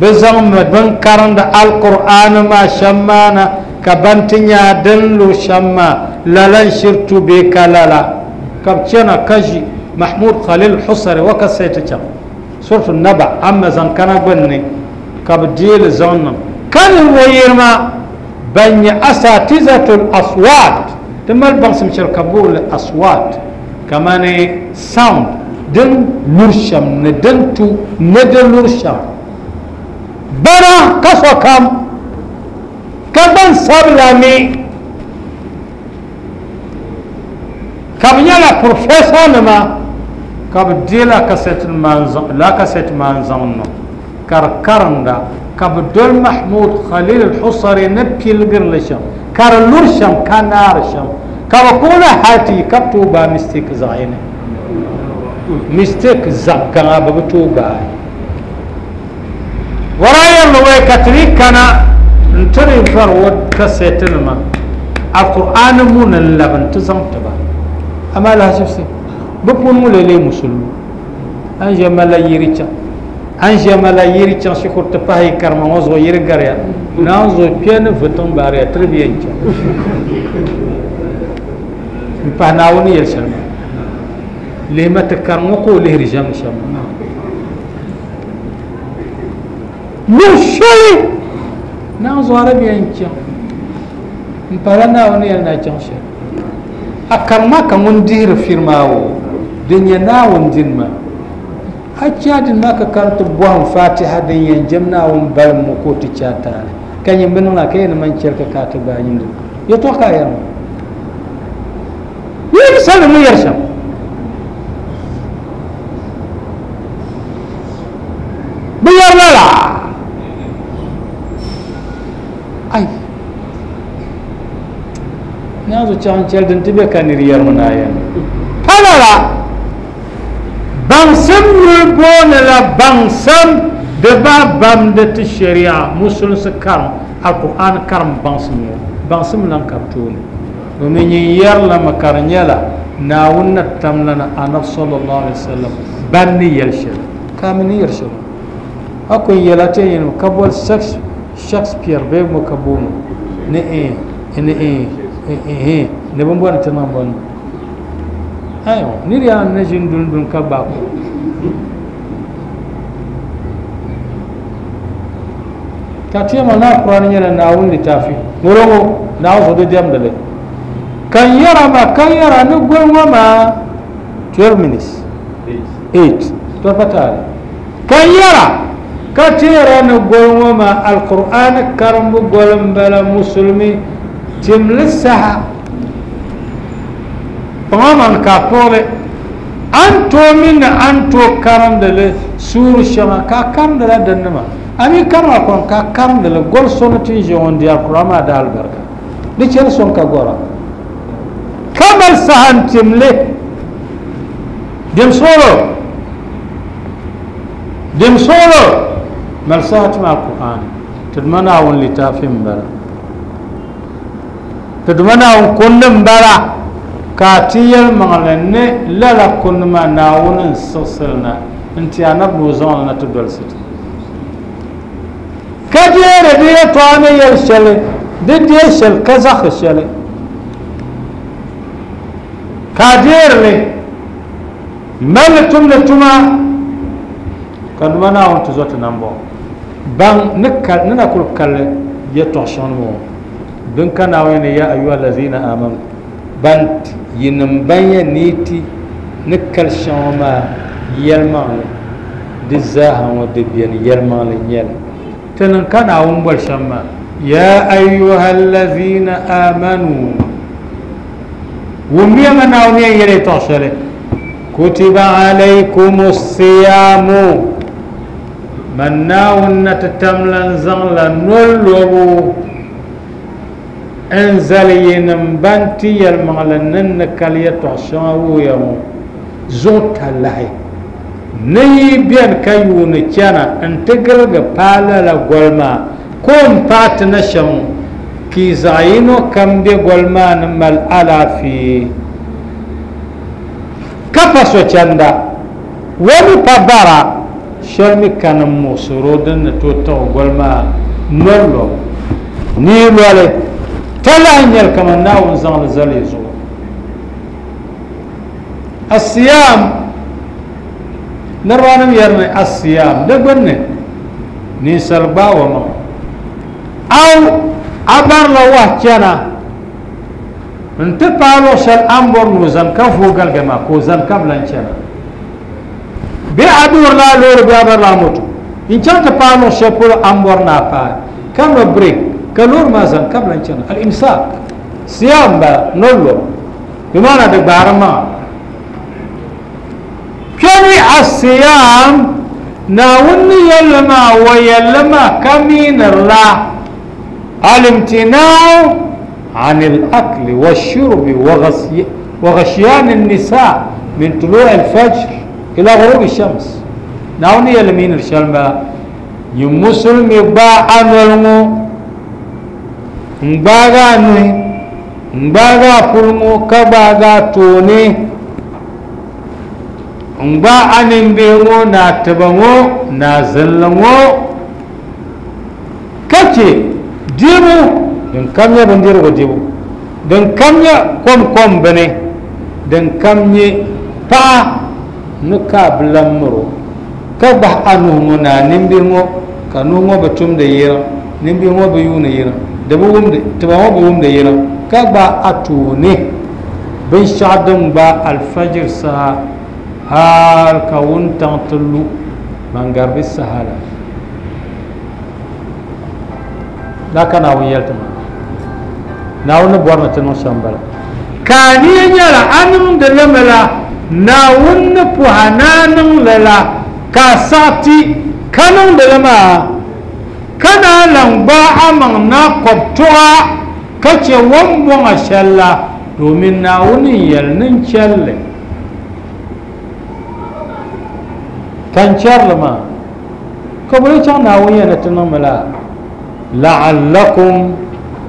bi zaŋmi bin karindi alqur'ani maa shɛm maa na ka ban ti nya din lu shɛm maa lala n shiri tu bee ka lala Ka bi chana ka ʒi Mahmud Khalil Husari wa kasɛti chaŋ suratu Naba amma zaŋ kana gbunni ka bi deeli zaŋ niŋ ka ninvuɣu yirima ban nyɛ asatizatul aswat ti mali baŋsim shɛli ka booli aswat kamani sound din luri shɛm ni din tu ni di luri shɛm bana ka sokam ka gbansabila mi ka bi nyɛla professor nima ka bi deela kasɛti la kasɛti maa n zaŋ niŋ ka di karinda ka bi doli Mahmud Khalil Husari ni piligirili shɛm ka di luri shɛm ka naari shɛm ka bi kpuɣila hali ti yi ka bi tooi gbaai mistake zaɣ yini mistake zaɣ gaŋa bi bi tooi gbaai wara yɛrili wai ka ti yi kana n tiri vari o kasɛti nima alqur'ani muni n labi n ti zaŋ tiba amma alhasibsi bi puuni ŋun lee musulmi an ʒiya malila yiri chaŋ an ʒiya malila yiri chaŋ shikuru ti pahi karima ŋɔ zuɣu yiri gariya naan zuɣu kpɛ ni vitiŋ baariya tiri bi yɛn chaŋ n pahi Naawuni yɛli shɛli maa lihima ti kari ŋɔ ka o lihiri ʒɛm shɛm luɣu shɛli naan zuɣu a di bi yɛn chaŋ n pahila Naawuni yɛli ni a chaŋ shɛli a karima ka ŋun dihiri firi maa wo din nyɛ Naawuni dini maa a chɛ dini maa ka kari ti bɔhim fatiha din yɛn jɛm Naawuni balim ŋɔ ka o ti chɛ a taali ka nyɛ bi niŋla ka yɛn ni man chɛli ka ka a ti gbaai nyindi yɛltɔɣa ka a yɛri maa yi bi sabili ŋun yɛri shɛm bi yɛri lala ai naazu chaŋ chɛli din ti bɛ ka niri yɛrimi na yɛn pa lala baŋsim yuli booni la baŋsim di ba bamdi ti sharia musulinsi karim alqur'an karim baŋsim ŋɔ baŋsim lan ka bi tooni domin nyin yɛrilami ka di nyɛla Naawuni na tamlana anabi sallallahu alaihi wasallam ban ni yɛli shɛli ka mi ni yɛli shɛli a kun yɛla ti yɛn ka boli Shakespeare bee ŋɔ ka booni ni eh ni eh eh ni bin bɔni ti niŋ bɔni ayo niri yaa ni ʒini dun dun ka gbaai ko ka tiyama na Qur'an nyɛla Naawuni litaafi ŋɔlɔ ŋɔ Naawuni zuɣu di diɛmdili kan yɛra ma kan yɛra ni goli ŋɔ maa twelve minutes eight to pa taali kan yɛra ka ti yɛra ni goli ŋɔ maa alqur'an karimbu goli n bala musulmi timli saha kpaŋa man ka puɣili an tooi mini an tooi karimdili suuri shɛŋa ka karimdila dinni maa a mi karima kɔŋ ka karimdili goli so ni ti ʒi ŋɔ n di alqur'an maa da alibarika di chɛri soŋ ka gɔra ka mali saha n timli dim suɣulo dim suɣulo mali saha tim alqur'an ti duma Naawuni litaafi n bala ti duma Naawuni kundi n bala ka ti yɛlimaŋli ni lala kundi maa Naawuni n siɣisili na n ti anabi ni o zaŋli na ti dolisi ti ka deeri di yɛltɔɣa ni yɛli shɛli di dee shɛli ka zaɣisi shɛli ka deerili mali tumdi tuma ka duma Naawuni ti zo ti nambɔɣu baŋ ni kal ni na kuli kali yɛltɔɣa shɛŋa ŋɔ din ka Naawuni ni ya ayuha allazina amanu ban yinim ban yɛn ni ti ni kali shɛŋa maa yɛlimaŋli di zaaha ŋɔ di beni yɛlimaŋli nyɛli ti niŋ ka Naawuni boli shɛm maa ya ayuha allazina amanu wummiya ma Naawuni yɛn yɛli yɛltɔɣa shɛli kutiba alaykum siyamu man Naawuni na ti tamla n zaŋla noli lobu n zali yinim ban ti yɛlimaŋli ni ni kali yɛltɔɣa shɛŋa wuhiya ŋɔ zuɣu talahi ni yi beni ka yuuni chana n ti girigi paai lala goli maa ko n paai ti na shɛm ki zaɣ yino kam be goli maa ni mali alaafee ka pa sochanda wani pa bara shɛli mi kani muɣusiro din ni tooi tiɣi goli maa noli lobu ni loli talahi nyɛli kamani Naawuni zaŋli zali zuɣu الصيام نروانم يرني الصيام دبني نسال باوما أو أبر لوه كنا انت بالو شل أمبر نوزن كفو قلقما كوزن قبل انشنا بأدور لا لور بأبر لا موتو إن كانت بالو شبول أمبر نابا كم بريك كلور ما زن قبل انشنا الإمساك صيام با نولو بمعنى دبارما كمي الصيام ناوني يلما ويلما كمين الله الامتناع عن الأكل والشرب وغسي وغشيان النساء من طلوع الفجر إلى غروب الشمس. ناوني يلمين الشلمة يمسلم يباع عنه مباغا نوي مباغا فلمو كباغا توني مبا أنبيغو ناتبغو نازلغو كتي ديبو دن كم يبنديرغو ديبو دن كم يكم كم بني دن كم يبا نكاب لمرو كبه أنومو نانبيغو كنومو بتوم ديرا نبيغو بيون يرا دبوم تبغو بوم ديرا كبه أتوني بنشادم با الفجر سا هال كون تنتلو من غرب السهالة لا كان أويلتما ناون بورنا تنو شامبلا كاني يلا أنم دلملا ناون بوهنانم للا كاساتي كانون دلما كان لنبا أمنا قبطوا كتش ومبون أشلا دومين ناون يلنن شل كان لما كبري كان ناوية نتنملا لعلكم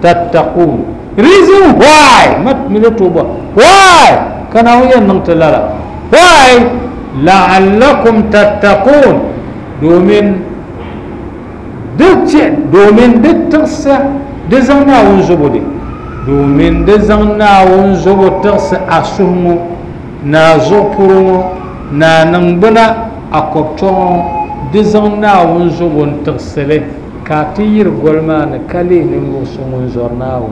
تتقون. Reason why ما ملتوبة why كان ناوية نمتلا why لعلكم تتقون دومين دت دومين دترس دزنا ونزبودي دومين دزنا ونزبو ترس أسهمو نازو نانمبنا أكبتون دزنا ونزبون ترسله كاتير غولمان كالي نموسون زورناو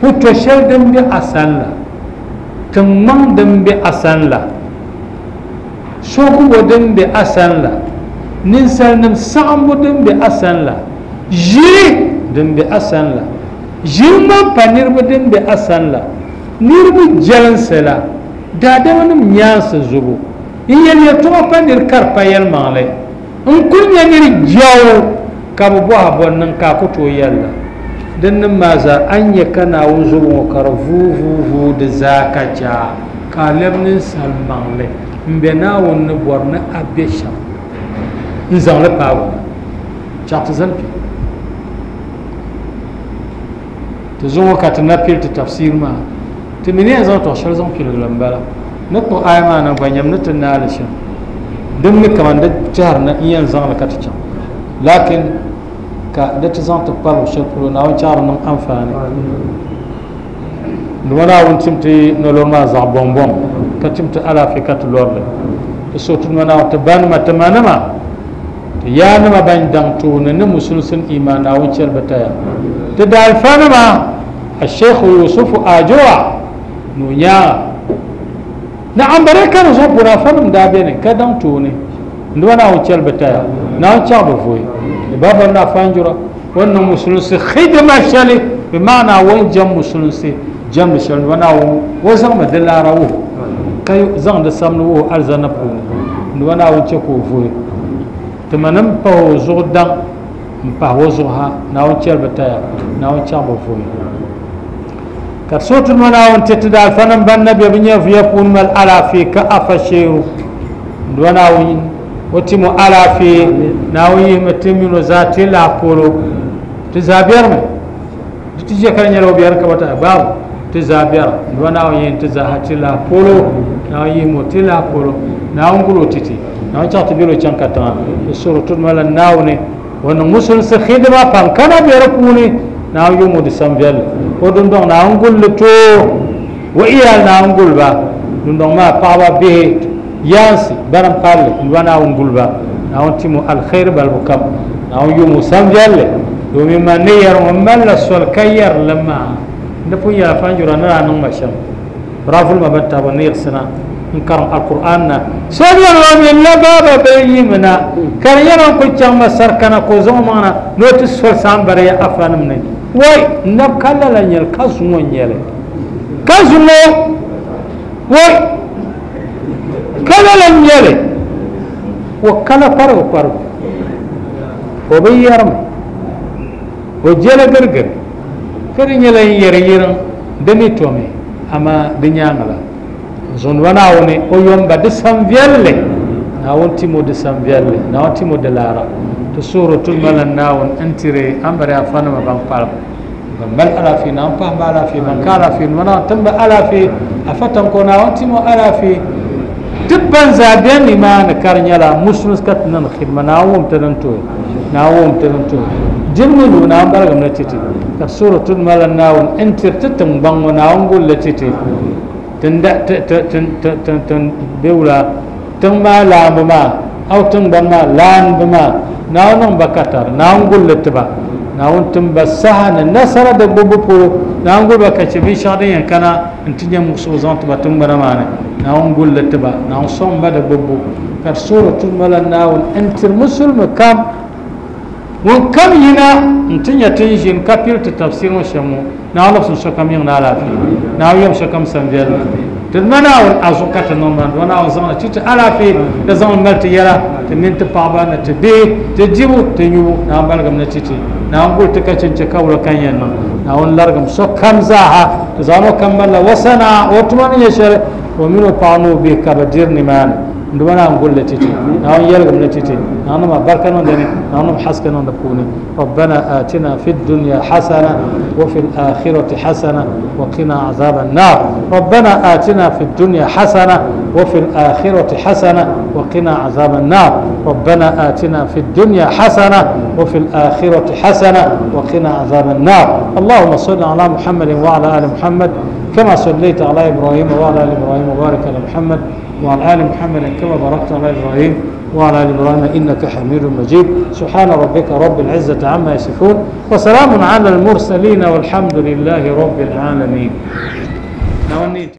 بوتوشل دم بي أسان لا تمان دم بي أسان لا سوكو دم بي أسان لا ننسال نم سامبو دم بي أسان لا جي دم بي أسان لا جي ما بانير دم بي أسان لا نيربو جلنسلا دادما نم نيانس زبو إن يتوما بانير كاربا يلمالي إن كل ينير جاو كابو بوها بونن كاكو تو يلا دن مازا أن يكنا وزبو وكار فو فو فو دزاكا جا كالب ننسال مالي مبنا ونبورنا أبيشا نزان لباو شاطزن بي تزوم كاتنا بيل تفسير ما تمني أزان توشر زان بيل لمبالا نتو آيما نبنيم نتنالشن دمني كمان ده شهرنا إيان زان لكاتشان لكن كده زان تقبل وشكلو ناو شهرنا أنفاني نوانا ونتمتي نلوما زع بوم كتمت على فكرة لورل الصوت نوانا تبان ما تمانما يا نما بين دانتون نمسلسن إيمان أو شر بتايا تدعي فانما الشيخ يوسف أجوا نونيا نعم بريكا نزوب برافنم دابين كدانتوني نوانا أو شر بتايا ناو شر بفوي بابا نافانجرا وإنه مسلسل خدمة شلي بمعنى وين جم مسلسل جم شلي وانا وزن مدلارة كي زن دسامنو أرزنا بوني نوانا أو شكو فوي تمنم باو زودان باو زوها ناو تشير بتايا ناو تشاب فوي كرسوت المنا وانت تدال فنم بن بنيا في يكون مال على في كأفشيرو وانا وين وتمو على في ناوي متمنو ذاتي لا بولو تزابير من تجي كان يلو بيار كبتا باب تزابير وانا وين تزاهتي لا بولو ناوي موتي لا بولو ناو نقولو تيتي ناو تعتبرو كان كتان السورة مال ناوني وأن مسلم خدمة بان كان بيركوني ناو يوم ديسمبر ودون دون ناو نقول لتو وإيال ناو نقول با dundɔŋ maa paɣaba bihi yaansi bana n palli n duba Naawuni guliba Naawuni timo alkhairi balibu kam Naawuni yumo sanviɛlli domin man ni yɛri ŋɔ malila soli ka yɛri li maa di pun yɛla fanjura ni daa niŋ ma shɛm raful ma ban taba ni yiɣisina n karim alkur'an na so yɛri wa min la baaba bɛ yimina ka di yɛla n ku chaŋ ma sarikana ka o zaŋ o maŋ na ni o ti soli sambari ya afanim ni wai nab ka lala nyɛli ka zuŋɔ n nyɛli ka zuŋɔ wai ka lala n nyɛli o kala kparigu kparigu o bi yɛrimi o jɛla girigiri ka di nyɛla n yɛri yiriŋ di ni tomi ama di nyaanga la zɔnba Naawuni o yomba di san viɛlli Naawuni timo di san viɛlli Naawuni timo di laara ti suhuri tuma la Naawuni n tiri an bari afanima ban kpalim ban mali alaafee Naawuni pahi ba alaafee ban ka alaafee nima Naawuni timba alaafee afa tanko Naawuni timo alaafee ti ban zaa bɛni nimaani ka di nyɛla musulins ka ti niŋ xidima Naawuni wum ti din tuhi Naawuni wum ti din tuhi dimni lu Naawuni barigim ni titi ka suhuri tuma la Naawuni n tiri ti tiŋgbaŋ ŋɔ Naawuni gulli titi tin tin tin tin be wula tiŋ maa laambu maa aw tiŋgbani maa laanbu maa Naawuni niŋ ba katari Naawuni gulli tiba Naawuni timba saha ni nasara di gbubbu polo Naawuni guli ba ka chɛ binshɛɣu din yɛn kana n ti nyɛ muɣusigu zaŋ tiba tiŋgbana maa ni Naawuni gulli tiba Naawuni sɔŋ ba di gbubbu ka di suhuri tuma la Naawuni n tiri musulimi kam ŋun kam yina n ti nyɛ tin ʒini ka pili ti tafsir ŋɔ shɛm ŋɔ Naawuni labisi sokam yiŋ ni alaafee Naawuni yɛm sokam san viɛlli ti ma Naawuni a zuɣu ka ti niŋ maa dama Naawuni zaŋli ti ti alaafee ka zaŋli mali ti yɛla ti mini ti paɣaba ni ti bihi ti dibu ti nyubu Naawuni baligim ni ti ti Naawuni guli ti ka chinchi ka wula kan yɛn niŋ Naawuni larigim sokam zaaha ti zaŋ o kam malila wasana o tuma ni nyɛ shɛli o mini o paɣa ni o bihi ka bi diri nimaani nduma Naawuni gulli titi Naawuni yɛligim ni titi Naawuni niŋ barka niŋ dini Naawuni niŋ haske niŋ di puuni ربنا آتنا في الدنيا حسنة وفي الآخرة حسنة وقنا عذاب النار ربنا آتنا في الدنيا حسنة وفي الآخرة حسنة وقنا عذاب النار ربنا آتنا في الدنيا حسنة وفي الآخرة حسنة وقنا عذاب النار اللهم صل على محمد وعلى آل محمد كما صليت على إبراهيم وعلى آل إبراهيم وبارك على محمد وعلى آل محمد كما باركت على إبراهيم وعلى آل إبراهيم إنك حميد مجيد سبحان ربك رب العزة عما يصفون وسلام على المرسلين والحمد لله رب العالمين.